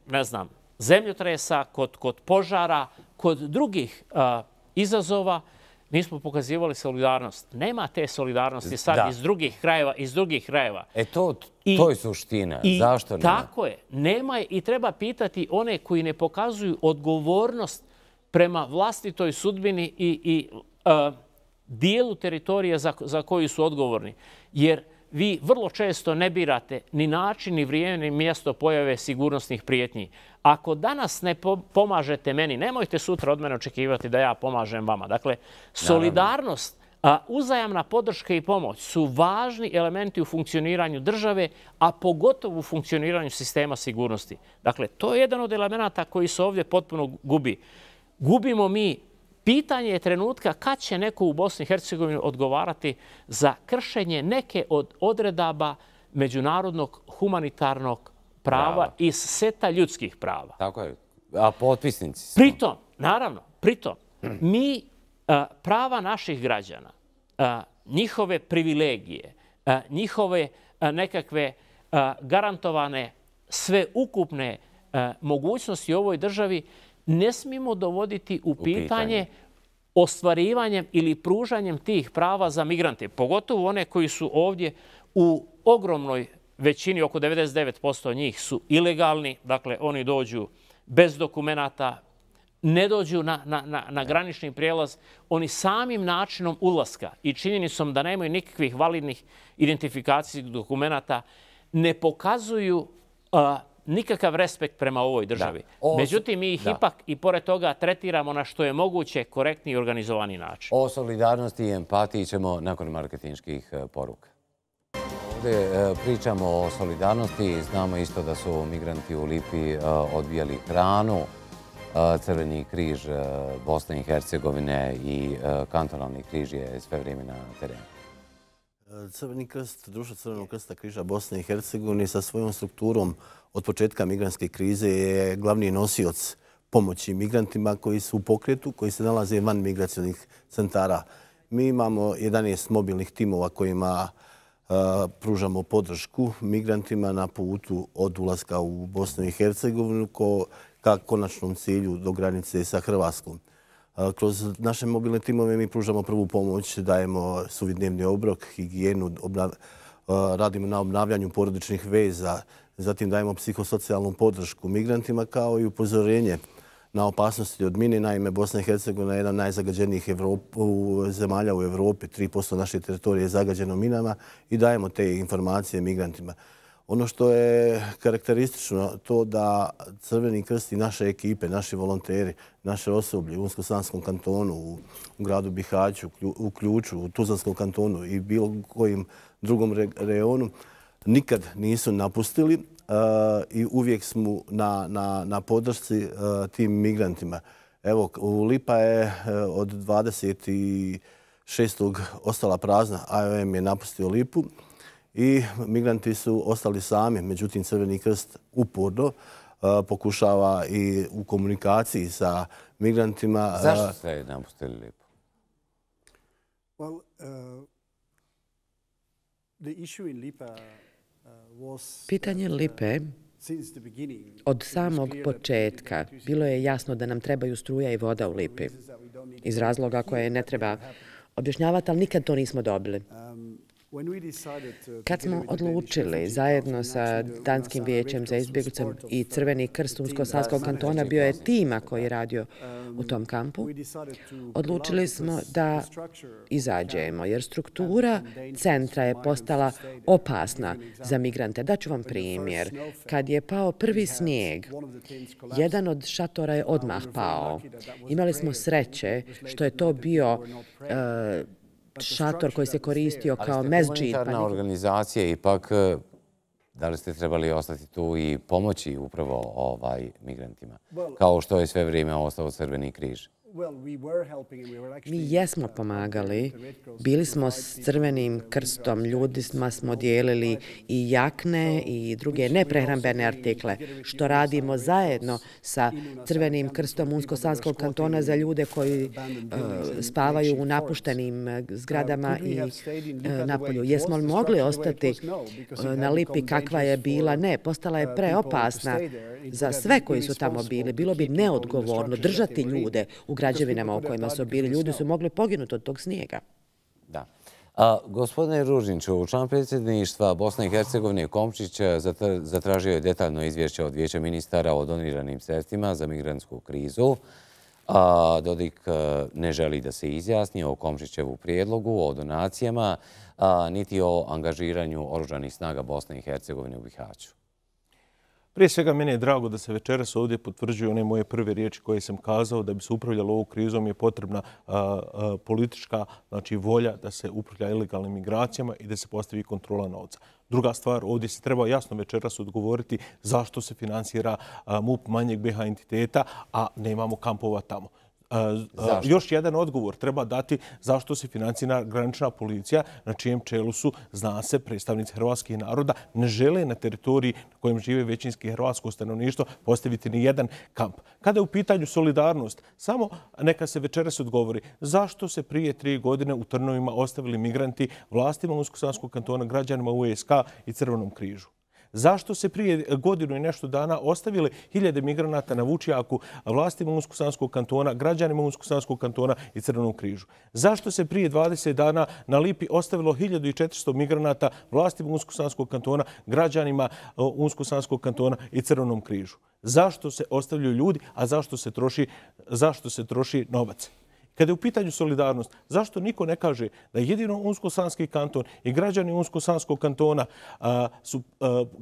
ne znam, zemljotresa, kod, kod požara, kod drugih a, izazova, nismo pokazivali solidarnost. Nema te solidarnosti sad da. iz drugih krajeva, iz drugih krajeva. E to, to je suština. I, Zašto nema? Tako je. Nema je i treba pitati one koji ne pokazuju odgovornost prema vlastitoj sudbini i, i a, dijelu teritorije za, za koju su odgovorni. Jer vi vrlo često ne birate ni način, ni vrijeme, ni mjesto pojave sigurnosnih prijetnji. Ako danas ne pomažete meni, nemojte sutra od mene očekivati da ja pomažem vama. Dakle, solidarnost, a, uzajamna podrška i pomoć su važni elementi u funkcioniranju države, a pogotovo u funkcioniranju sistema sigurnosti. Dakle, to je jedan od elemenata koji se ovdje potpuno gubi. Gubimo mi. Pitanje je trenutka kad će neko u Bosni i Hercegovini odgovarati za kršenje neke od odredaba međunarodnog humanitarnog prava Brava. iz seta ljudskih prava. Tako je. A potpisnici smo. Pritom, naravno, pritom, mi a, prava naših građana, a, njihove privilegije, a, njihove a, nekakve a, garantovane sveukupne a, mogućnosti u ovoj državi ne smijemo dovoditi u pitanje, u pitanje ostvarivanjem ili pružanjem tih prava za migrante, pogotovo one koji su ovdje u ogromnoj većini, oko devedeset devet posto njih su ilegalni, dakle oni dođu bez dokumenata, ne dođu na, na, na, na granični prijelaz, oni samim načinom ulaska i činjenicom da nemaju nikakvih validnih identifikacijskih dokumenata ne pokazuju a, nikakav respekt prema ovoj državi. O, Međutim, mi ih da. ipak i pored toga tretiramo na što je moguće korektni i organizovani način. O solidarnosti i empatiji ćemo nakon marketinških poruka. Ovdje pričamo o solidarnosti. Znamo isto da su migranti u Lipi odbijali hranu. Crveni križ Bosne i Hercegovine i kantonalni križ je sve vrijeme na terenu. Crveni krst, Društvo Crvenog krsta križa Bosne i Hercegovine sa svojom strukturom od početka migrantske krize je glavni nosioc pomoći migrantima koji su u pokretu, koji se nalaze van migracionih centara. Mi imamo jedanaest mobilnih timova kojima pružamo podršku migrantima na putu od ulaska u Bosnu i Hercegovinu ka konačnom cilju do granice sa Hrvatskom. Kroz naše mobilne timove mi pružamo prvu pomoć, dajemo suvidnevni obrok, higijenu, radimo na obnavljanju porodičnih veza, zatim dajemo psihosocijalnu podršku migrantima kao i upozorenje na opasnosti od mine. Naime, Bosna i Hercegovina je jedna od najzagađenijih zemalja u Evropi. tri posto naše teritorije je zagađeno minama i dajemo te informacije migrantima. Ono što je karakteristično to da Crveni krst i naše ekipe, naši volonteri, naše osoblje u Unsko-Sanskom kantonu, u gradu Bihaću, u Ključu, u Tuzlanskom kantonu i bilo kojim drugom reonu nikad nisu napustili i uvijek smo na podršci tim migrantima. Evo, Lipa je od dvadeset šestog ostala prazna, I O M je napustio Lipu i migranti su ostali sami. Međutim, Crveni krst uporno pokušava i u komunikaciji sa migrantima. Zašto ste napustili Lipu? Pitanje Lipe od samog početka bilo je jasno da nam trebaju struja i voda u Lipi. Iz razloga koje ne treba objašnjavati, ali nikad to nismo dobili. Kad smo odlučili zajedno sa Danskim vijećem za izbjeglice i Crveni krst Unsko-Sanskog kantona, bio je tima koji je radio u tom kampu, odlučili smo da izađemo, jer struktura centra je postala opasna za migrante. Daću vam primjer. Kad je pao prvi snijeg, jedan od šatora je odmah pao. Imali smo sreće što je to bio šator koji se koristio kao mezđid. Ali ste humanitarna organizacija, ipak da li ste trebali ostati tu i pomoći upravo migrantima, kao što je sve vrijeme ostao Crveni križ? Mi jesmo pomagali, bili smo s Crvenim krstom, ljudima smo dijelili i jakne i druge neprehrambene artikle, što radimo zajedno sa Crvenim krstom Unsko-Sanskog kantona za ljude koji spavaju u napuštenim zgradama i napolju. Jesmo li mogli ostati na Lipi kakva je bila? Ne, postala je preopasna za sve koji su tamo bili. Bilo bi neodgovorno držati ljude u građevinama u kojima su bili. Ljudi su mogli poginuti od tog snijega. Da. Gospodine Ružinču, član predsjedništva Bosne i Hercegovine Komšić zatražio je detaljno izvješće od Vijeća ministara o doniranim sredstvima za migrantsku krizu. Dodik ne želi da se izjasni o Komšićevu prijedlogu, o donacijama, niti o angažiranju oružanih snaga Bosne i Hercegovine u Bihaću. Prije svega, meni je drago da se večeras ovdje potvrđuju one moje prve riječi koje sam kazao. Da bi se upravljalo ovu krizom je potrebna politička volja da se upravlja ilegalnim migracijama i da se postavi kontrola novca. Druga stvar, ovdje se treba jasno večeras odgovoriti zašto se finansira M U P manjeg B iH entiteta, a nemamo kampova tamo. Još jedan odgovor treba dati zašto se financira granična policija na čijem čelu su, zna se, predstavnici hrvatskih naroda, ne žele na teritoriji na kojem žive većinski hrvatsko stanovništvo postaviti ni jedan kamp. Kada je u pitanju solidarnost, samo neka se večeras odgovori zašto se prije tri godine u Trnovima ostavili migranti vlastima Unsko-Sanskog kantona, građanima U S K i Crvenom križu. Zašto se prije godinu i nešto dana ostavili hiljade migranata na Vučijaku vlastima Unsko-Sanskog kantona, građanima Unsko-Sanskog kantona i Crvenom križu? Zašto se prije dvadeset dana na Lipi ostavilo hiljadu i četiristo migranata vlastima Unsko-Sanskog kantona, građanima Unsko-Sanskog kantona i Crvenom križu? Zašto se ostavljaju ljudi, a zašto se troši, zašto se troši novac? Kada je u pitanju solidarnost, zašto niko ne kaže da jedino Unsko-Sanski kanton i građani Unsko-Sanskog kantona, su,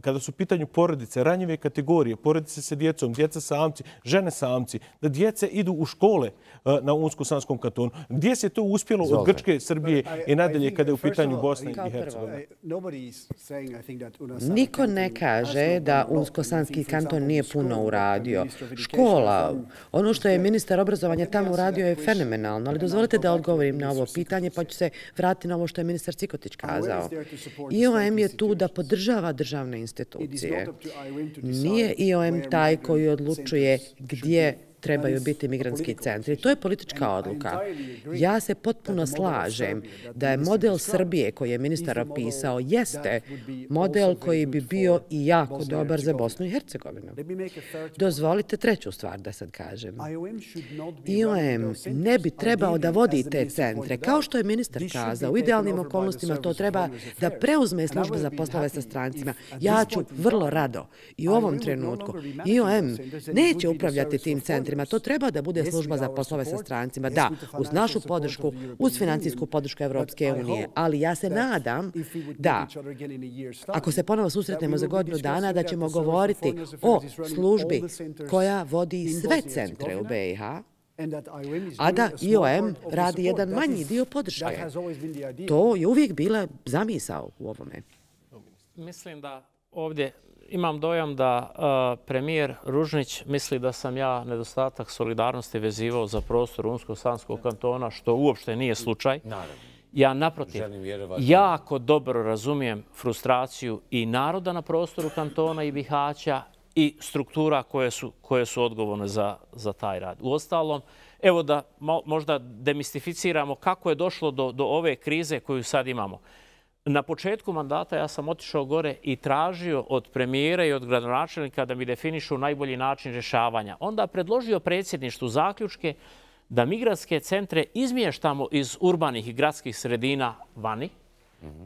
kada su u pitanju porodice, ranjive kategorije, porodice sa djecom, djeca samci, žene samci, da djece idu u škole na Unsko-Sanskom kantonu? Gdje se to uspjelo od Grčke, Srbije i nadalje kada je u pitanju Bosne i Hercegovine? Niko ne kaže da Unsko-Sanski kanton nije puno uradio. Škola, ono što je ministar obrazovanja tamo uradio je fenomenalno. Ali dozvolite da odgovorim na ovo pitanje, pa ću se vratiti na ovo što je ministar Cikotić kazao. I O M je tu da podržava državne institucije. Nije I O M taj koji odlučuje gdje trebaju biti migrantski centri. To je politička odluka. Ja se potpuno slažem da je model Srbije koji je ministar opisao jeste model koji bi bio i jako dobar za Bosnu i Hercegovinu. Dozvolite treću stvar da sad kažem. I O M ne bi trebao da vodi te centre. Kao što je ministar kazao, u idealnim okolnostima to treba da preuzme služba za poslove sa strancima. Ja ću vrlo rado i u ovom trenutku. I O M neće upravljati tim centrima. To treba da bude služba za poslove sa strancima. Da, uz našu podršku, uz financijsku podršku Evropske unije. Ali ja se nadam da, ako se ponovo susretnemo za godinu dana, da ćemo govoriti o službi koja vodi sve centre u B i H, a da I O M radi jedan manji dio podrške. To je uvijek bila zamisao u ovome. Mislim da ovdje imam dojam da uh, premijer Ružnić misli da sam ja nedostatak solidarnosti vezivao za prostor Unsko-Sanskog kantona, što uopšte nije slučaj. Ja naprotiv, jako dobro razumijem frustraciju i naroda na prostoru kantona i Bihaća i struktura koje su, koje su odgovorne za, za taj rad. Uostalom, evo da možda demistificiramo kako je došlo do, do ove krize koju sad imamo. Na početku mandata ja sam otišao gore i tražio od premijera i od gradonačelnika da mi definišu najbolji način rješavanja. Onda predložio predsjedništvu zaključke da migrantske centre izmještamo iz urbanih i gradskih sredina vani.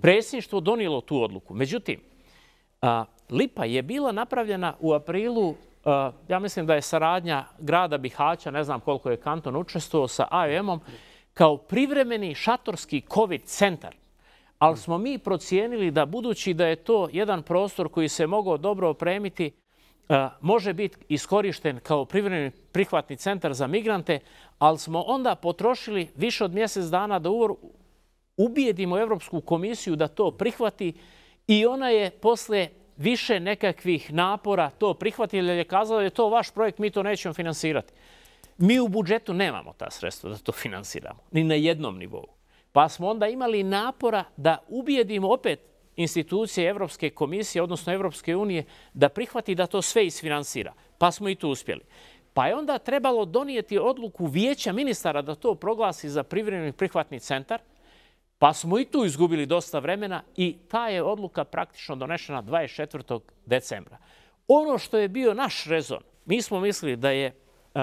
Predsjedništvo donijelo tu odluku. Međutim, Lipa je bila napravljena u aprilu, ja mislim da je saradnja grada Bihaća, ne znam koliko je kanton učestvovao sa A O M-om, kao privremeni šatorski COVID centar. Ali smo mi procijenili da budući da je to jedan prostor koji se mogao dobro opremiti, može biti iskorišten kao privremeni prihvatni centar za migrante, ali smo onda potrošili više od mjesec dana da ubijedimo Evropsku komisiju da to prihvati i ona je posle više nekakvih napora to prihvatila jer je kazala da je to vaš projekt, mi to nećemo finansirati. Mi u budžetu nemamo ta sredstva da to finansiramo, ni na jednom nivou. Pa smo onda imali napora da ubijedimo opet institucije Evropske komisije, odnosno Evropske unije, da prihvati da to sve isfinansira. Pa smo i tu uspjeli. Pa je onda trebalo donijeti odluku vijeća ministara da to proglasi za privremeni prihvatni centar, pa smo i tu izgubili dosta vremena i ta je odluka praktično donešena dvadeset četvrtog decembra. Ono što je bio naš rezon, mi smo mislili da je uh,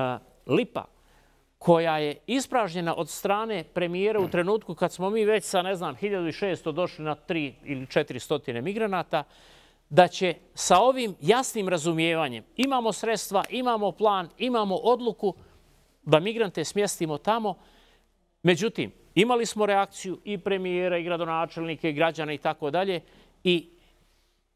Lipa, koja je ispražnjena od strane premijera u trenutku kad smo mi već sa, ne znam, hiljadu šesto došli na tri ili četiri stotine migranata, da će sa ovim jasnim razumijevanjem imamo sredstva, imamo plan, imamo odluku da migrante smjestimo tamo. Međutim, imali smo reakciju i premijera, i gradonačelnike, i građana i tako dalje. I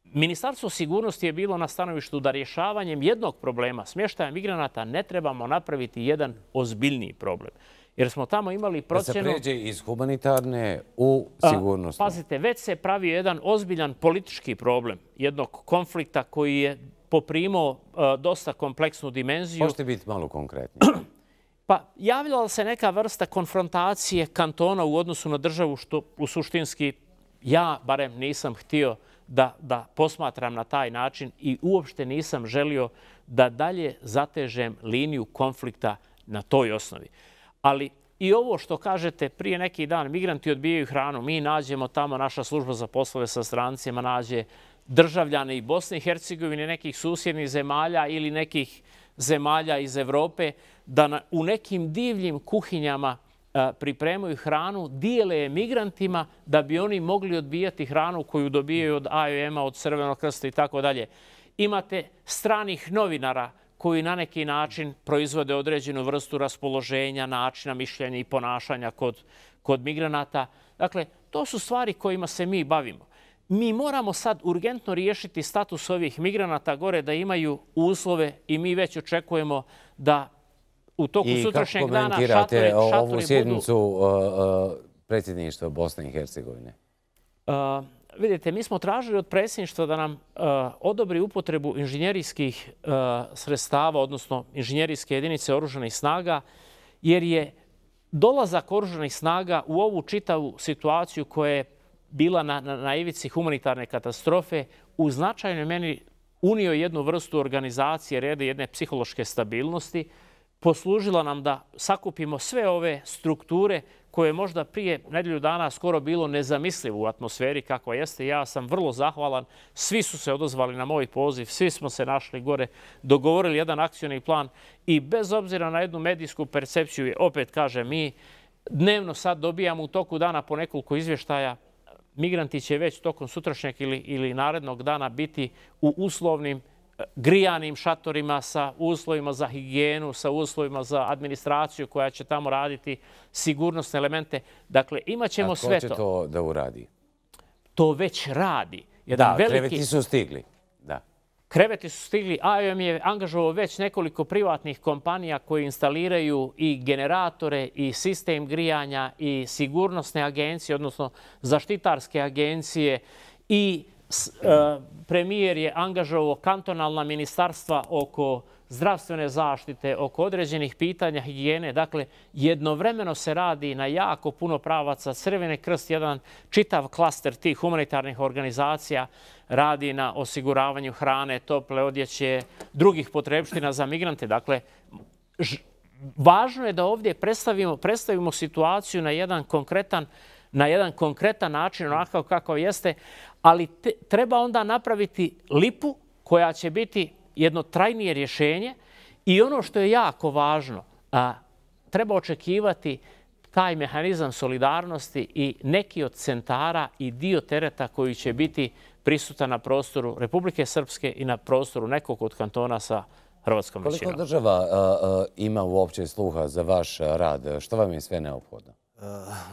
Ministarstvo sigurnosti je bilo na stanovištu da rješavanjem jednog problema smještaja migranata ne trebamo napraviti jedan ozbiljniji problem. Jer smo tamo imali procjenu... Da se pređe iz humanitarne u sigurnost. Pazite, već se pravi jedan ozbiljan politički problem jednog konflikta koji je poprimao dosta kompleksnu dimenziju. Možete biti malo konkretni. Pa javljala se neka vrsta konfrontacije kantona u odnosu na državu, što u suštinski ja barem nisam htio da, da posmatram na taj način i uopšte nisam želio da dalje zatežem liniju konflikta na toj osnovi. Ali i ovo što kažete, prije neki dan migranti odbijaju hranu, mi nađemo tamo, naša služba za poslove sa strancima nađe državljane i Bosne i Hercegovine, nekih susjednih zemalja ili nekih zemalja iz Evrope, da na, u nekim divljim kuhinjama a, pripremaju hranu, dijele je migrantima da bi oni mogli odbijati hranu koju dobijaju od A O M-a, od Crvenog krsta i tako dalje. Imate stranih novinara koji na neki način proizvode određenu vrstu raspoloženja, načina mišljenja i ponašanja kod, kod migranata. Dakle, to su stvari kojima se mi bavimo. Mi moramo sad urgentno riješiti status ovih migranata gore da imaju uslove i mi već očekujemo da u toku sutrašnjeg dana šatore, šatore budu... I kako komentirate ovu sjednicu uh, uh, predsjedništva Bosne i Hercegovine? Uh, vidite, mi smo tražili od predsjedništva da nam uh, odobri upotrebu inženjerijskih uh, sredstava, odnosno inženjerijske jedinice oružanih snaga, jer je dolazak oružanih snaga u ovu čitavu situaciju koja je bila na, na, na ivici humanitarne katastrofe u značajnoj meni unio jednu vrstu organizacije, reda, jedne psihološke stabilnosti, poslužila nam da sakupimo sve ove strukture koje je možda prije nedelju dana skoro bilo nezamislivo u atmosferi kakva jeste. Ja sam vrlo zahvalan. Svi su se odozvali na moj poziv, svi smo se našli gore, dogovorili jedan akcioni plan i bez obzira na jednu medijsku percepciju, opet kažem, mi dnevno sad dobijamo u toku dana po nekoliko izvještaja. Migranti će već tokom sutrašnjeg ili, ili narednog dana biti u uslovnim grijanim šatorima sa uslovima za higijenu, sa uslovima za administraciju koja će tamo raditi sigurnosne elemente. Dakle, imat ćemo sve to. A ko će to da uradi? To već radi. Da, kreveti su stigli. Da. Kreveti su stigli. A I O M je angažovao već nekoliko privatnih kompanija koji instaliraju i generatore i sistem grijanja i sigurnosne agencije, odnosno zaštitarske agencije i premijer je angažovao kantonalna ministarstva oko zdravstvene zaštite, oko određenih pitanja higijene. Dakle, jednovremeno se radi na jako puno pravaca. Crveni krst, jedan čitav klaster tih humanitarnih organizacija, radi na osiguravanju hrane, tople odjeće, drugih potrebština za migrante. Dakle, važno je da ovdje predstavimo, predstavimo situaciju na jedan konkretan na jedan konkretan način, onakav kakav jeste, ali te, treba onda napraviti lipu koja će biti jedno trajnije rješenje i ono što je jako važno, a, treba očekivati taj mehanizam solidarnosti i neki od centara i dio tereta koji će biti prisutan na prostoru Republike Srpske i na prostoru nekog od kantona sa hrvatskom većinom. Koliko država a, a, ima uopće sluha za vaš rad? Što vam je sve neophodno?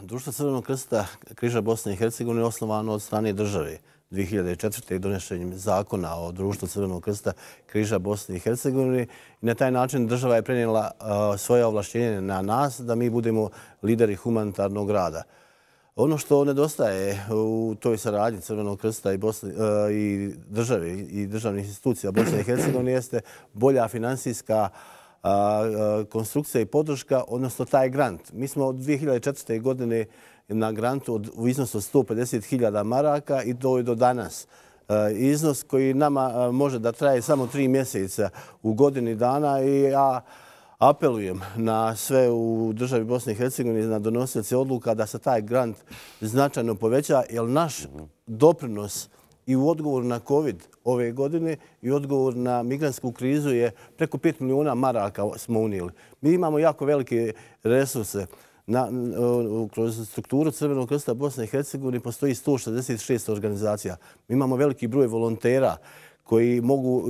Društvo Crvenog krsta Križa Bosne i Hercegovine je osnovano od strane države. dvije hiljade četvrte. donošenjem zakona o Društvu Crvenog krsta Križa Bosne i Hercegovine. I na taj način država je prenijela svoje ovlašćenje na nas da mi budemo lideri humanitarnog rada. Ono što nedostaje u toj saradnji Crvenog krsta i, Bosne, i države i državnih institucija Bosne i Hercegovine jeste bolja finansijska konstrukcija i podrška, odnosno taj grant. Mi smo od dvije hiljade četvrte. godine na grantu u iznosu od sto pedeset hiljada maraka i to je do danas. Iznos koji nama može da traje samo tri mjeseca u godini dana i ja apelujem na sve u državi Bosne i Hercegovine, na donosioce odluka da se taj grant značajno poveća, jer naš doprinos i u odgovoru na COVID ove godine i odgovor na migrantsku krizu je preko pet milijuna maraka smo unijeli. Mi imamo jako velike resurse. Na, kroz strukturu Crvenog krsta Bosne i Hercegovine postoji sto šezdeset šest organizacija. Mi imamo veliki broj volontera koji mogu,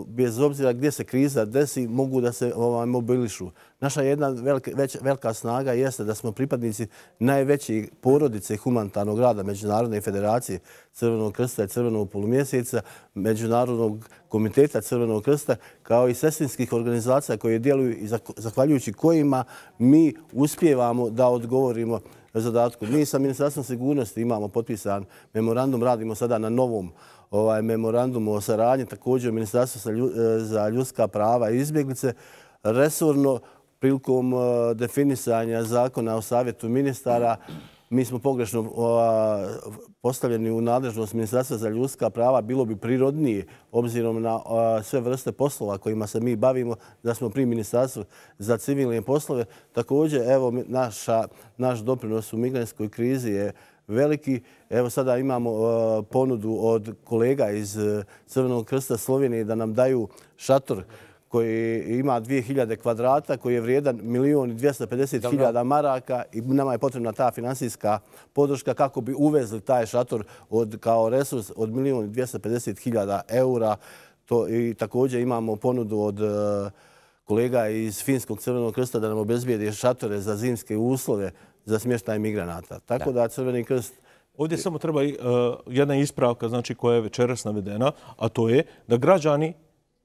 bez obzira gdje se kriza desi, mogu da se ovaj, mobilišu. Naša jedna velika, već, velika snaga jeste da smo pripadnici najveće porodice humanitarnog rada Međunarodne federacije Crvenog krsta i Crvenog polumjeseca, Međunarodnog komiteta Crvenog krsta, kao i sestrinskih organizacija koje djeluju i zahvaljujući kojima mi uspijevamo da odgovorimo zadatku. Mi sa Ministarstvom sigurnosti imamo potpisan memorandum, radimo sada na novom ovaj memorandum o saradnji, također Ministarstvo za ljudska prava i izbjeglice, resorno prilikom definisanja zakona o savjetu ministara, mi smo pogrešno postavljeni u nadležnost Ministarstva za ljudska prava. Bilo bi prirodnije, obzirom na sve vrste poslova kojima se mi bavimo, da smo pri Ministarstvu za civilne poslove. Također, evo, naša, naš doprinos u migrantskoj krizi je veliki. Evo sada imamo uh, ponudu od kolega iz uh, Crvenog krsta Slovenije da nam daju šator koji ima dvije hiljade kvadrata, koji je vrijedan milijon i dvjesto pedeset hiljada maraka i nama je potrebna ta finansijska podrška kako bi uvezli taj šator od, kao resurs od milijon i dvjesto pedeset hiljada eura. To, i također imamo ponudu od uh, kolega iz Finskog Crvenog krsta da nam obezbijede šatore za zimske uslove za smještaj migranata. Tako da, da Crveni krst... Ovdje samo treba uh, jedna ispravka, znači, koja je večeras navedena, a to je da građani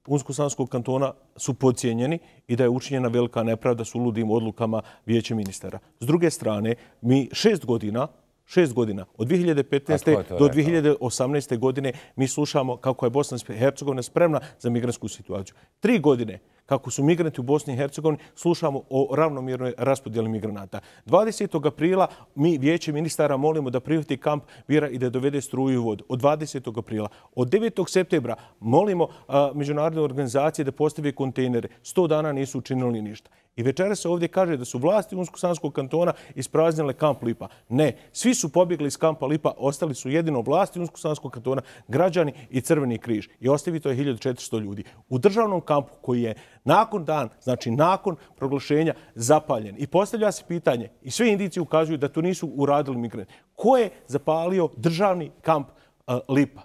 Unsko-Sanskog kantona su podcijenjeni i da je učinjena velika nepravda s uludim odlukama Vijeća ministara. S druge strane, mi šest godina, šest godina, od dvije hiljade petnaeste. do dvije hiljade osamnaeste. godine, mi slušamo kako je Bosna i Hercegovina spremna za migrantsku situaciju. Tri godine kako su migranti u Bosni i Hercegovini, slušamo o ravnomjernoj raspodjeli migranata. dvadesetog aprila mi vijeće ministara molimo da prihvati kamp Bira i da dovede struju i vodu. Od dvadesetog aprila. Od devetog septembra molimo a, međunarodne organizacije da postave kontejnere. Sto dana nisu učinili ništa. I večera se ovdje kaže da su vlasti Unsko-Sanskog kantona ispraznile kamp Lipa. Ne, svi su pobjegli iz kampa Lipa, ostali su jedino vlasti Unsko-Sanskog kantona, građani i Crveni križ. I ostavito je hiljadu četiristo ljudi. U državnom kampu koji je nakon dan, znači nakon proglašenja, zapaljen. I postavlja se pitanje, i sve indicije ukazuju da to nisu uradili migranti. Ko je zapalio državni kamp uh, Lipa?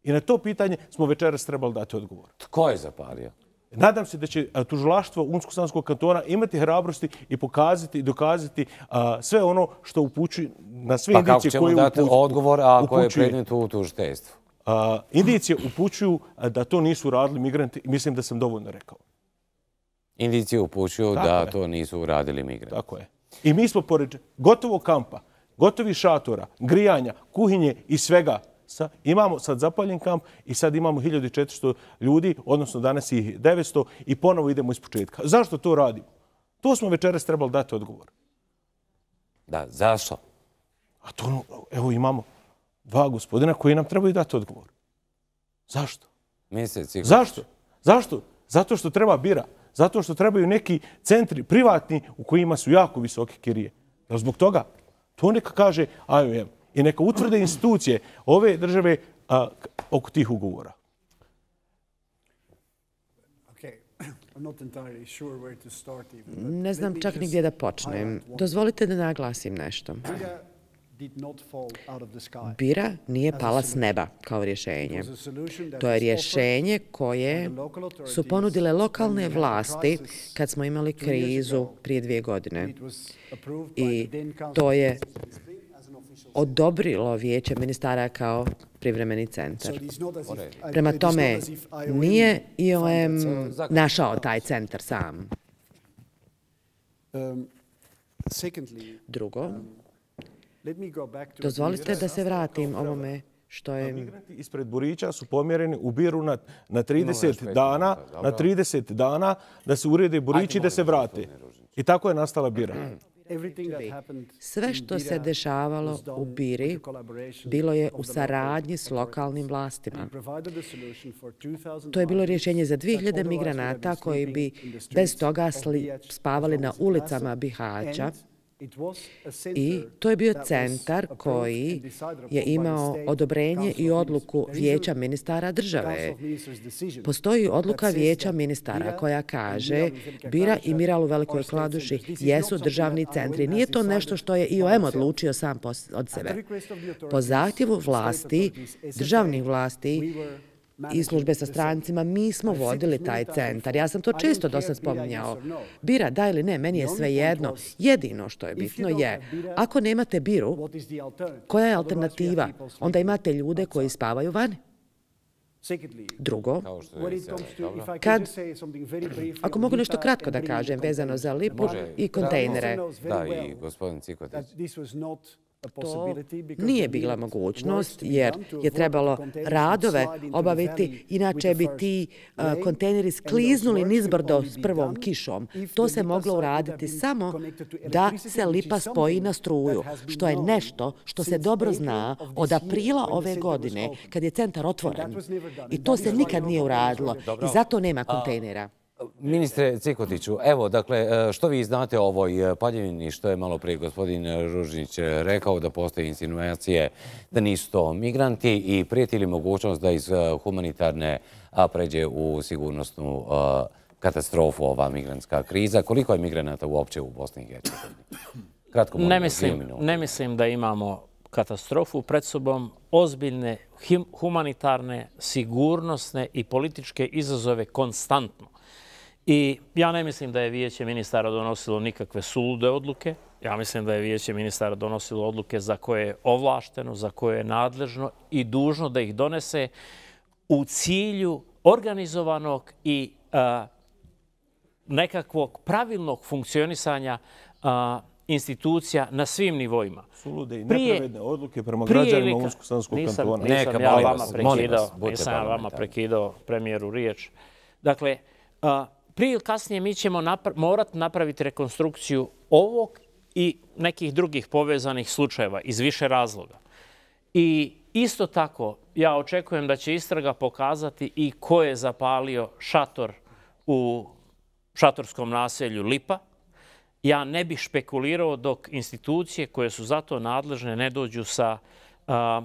I na to pitanje smo večeras trebali dati odgovor. Tko je zapalio? Nadam se da će tužilaštvo Unsko-Sanskog kantona imati hrabrosti i pokazati i dokazati a, sve ono što upućuje na sve pa indicije koje upućuju. Pa kako ćemo dati odgovor ako je predmet u tužiteljstvu? Indicije upućuju da to nisu uradili migranti i mislim da sam dovoljno rekao. Indicije upućuju tako da je. To nisu uradili migranti. Tako je. I mi smo pored gotovog kampa, gotovi šatora, grijanja, kuhinje i svega, Sa, imamo sad zapaljen kamp i sad imamo hiljadu četiristo ljudi, odnosno danas ih devetsto i ponovo idemo iz početka. Zašto to radimo? To smo večeras trebali dati odgovor. Da, zašto? A to, evo imamo dva gospodina koji nam trebaju dati odgovor. Zašto? Mjesec, Zašto? Zašto? Zato što treba Bira. Zato što trebaju neki centri privatni u kojima su jako visoke kirije. Jel zbog toga? To neka kaže I O M. I neka utvrde institucije ove države a, oko tih ugovora. Ne znam čak ni gdje da počnem. Dozvolite da naglasim nešto. Bira nije pala s neba kao rješenje. To je rješenje koje su ponudile lokalne vlasti kad smo imali krizu prije dvije godine. I to je odobrilo vijeće ministara kao privremeni centar. Prema tome, nije I O M našao taj centar sam. Drugo, dozvolite da se vratim ovome što je... Migranti ispred Burića su pomjereni u Biru na, na trideset dana, na trideset dana da se urede Burići i da se vrate. I tako je nastala Bira. Sve što se dešavalo u Biri bilo je u saradnji s lokalnim vlastima. To je bilo rješenje za dvije hiljade migranata koji bi bez toga spavali na ulicama Bihaća. I to je bio centar koji je imao odobrenje i odluku vijeća ministara države. Postoji odluka vijeća ministara koja kaže Bira i Miral u Velikoj Kladuši jesu državni centri. Nije to nešto što je I O M odlučio sam od sebe. Po zahtjevu vlasti, državnih vlasti i službe sa strancima, mi smo vodili taj centar. Ja sam to često do sad spominjao. Bira, da ili ne, meni je sve jedno. Jedino što je bitno je, ako nemate Biru, koja je alternativa? Onda imate ljude koji spavaju vani. Drugo, kad, ako mogu nešto kratko da kažem vezano za Lipu i kontejnere. Da, i gospodin Cikotić. To nije bila mogućnost jer je trebalo radove obaviti, inače bi ti uh, kontejneri skliznuli nizbrdo s prvom kišom. To se moglo uraditi samo da se Lipa spoji na struju, što je nešto što se dobro zna od aprila ove godine kad je centar otvoren. I to se nikad nije uradilo i zato nema kontejnera. Ministre Cikotiću, evo, dakle, što vi znate o ovoj paljevini, što je malo prije gospodin Ružnić rekao, da postoje insinuacije da nisu to migranti i prijeti li mogućnost da iz humanitarne pređe u sigurnosnu katastrofu ova migrantska kriza? Koliko je migranata uopće u Bosni i Hercegovini? Kratko, ne mislim, ne mislim da imamo katastrofu pred sobom, ozbiljne humanitarne, sigurnosne i političke izazove konstantno. I ja ne mislim da je vijeće ministara donosilo nikakve sulude odluke. Ja mislim da je vijeće ministara donosilo odluke za koje je ovlašteno, za koje je nadležno i dužno da ih donese u cilju organizovanog i a, nekakvog pravilnog funkcionisanja a, institucija na svim nivoima. Sulude i nepravedne odluke prema građanima Unsko-Sanskog kantona. Nisam ja vama prekidao, nisam ja vama prekidao premijeru riječ. Dakle, a, prije ili kasnije mi ćemo morati napraviti rekonstrukciju ovog i nekih drugih povezanih slučajeva iz više razloga. I isto tako, ja očekujem da će istraga pokazati i ko je zapalio šator u šatorskom naselju Lipa. Ja ne bih špekulirao dok institucije koje su za to nadležne ne dođu sa a,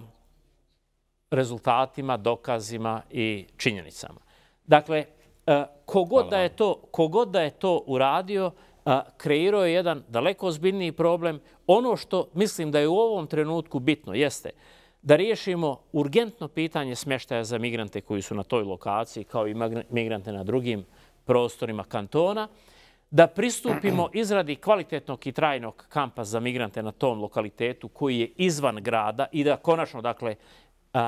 rezultatima, dokazima i činjenicama. Dakle, kogod da je to, kogod da je to uradio, kreirao je jedan daleko ozbiljniji problem. Ono što mislim da je u ovom trenutku bitno jeste da riješimo urgentno pitanje smještaja za migrante koji su na toj lokaciji, kao i migrante na drugim prostorima kantona, da pristupimo izradi kvalitetnog i trajnog kampa za migrante na tom lokalitetu koji je izvan grada i da konačno, dakle,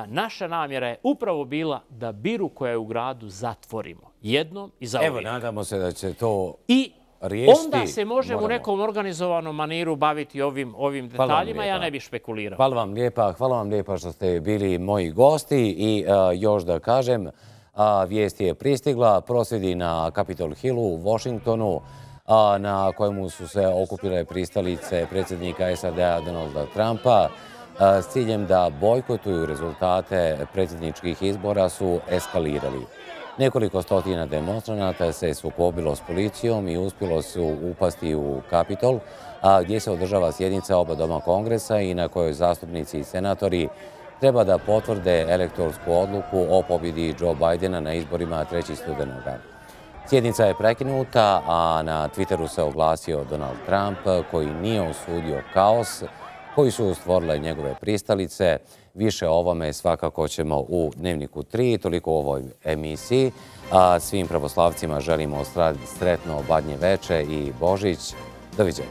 naša namjera je upravo bila da biru koja je u gradu zatvorimo jednom i zauvijek. Evo, nadamo se da će to I riješiti. onda se može u nekom organizovanom maniru baviti ovim, ovim detaljima. Ja ne bih špekulirao. Hvala vam lijepa. Hvala vam lijepa što ste bili moji gosti. I uh, još da kažem, uh, vijest je pristigla. Prosvjedi na Capitol Hillu u Washingtonu, uh, na kojemu su se okupile pristalice predsjednika S A D-a Donalda Trumpa s ciljem da bojkotuju rezultate predsjedničkih izbora su eskalirali. Nekoliko stotina demonstranata se sukobilo s policijom i uspjelo su upasti u Kapitol, gdje se održava sjednica oba doma Kongresa i na kojoj zastupnici i senatori treba da potvrde elektorsku odluku o pobjedi Joe Bidena na izborima trećeg studenoga. Sjednica je prekinuta, a na Twitteru se oglasio Donald Trump, koji nije osudio kaos koji su stvorile njegove pristalice. Više o ovome svakako ćemo u Dnevniku tri, toliko u ovoj emisiji. A svim pravoslavcima želimo sretno Badnje veče i Božić. Doviđenja.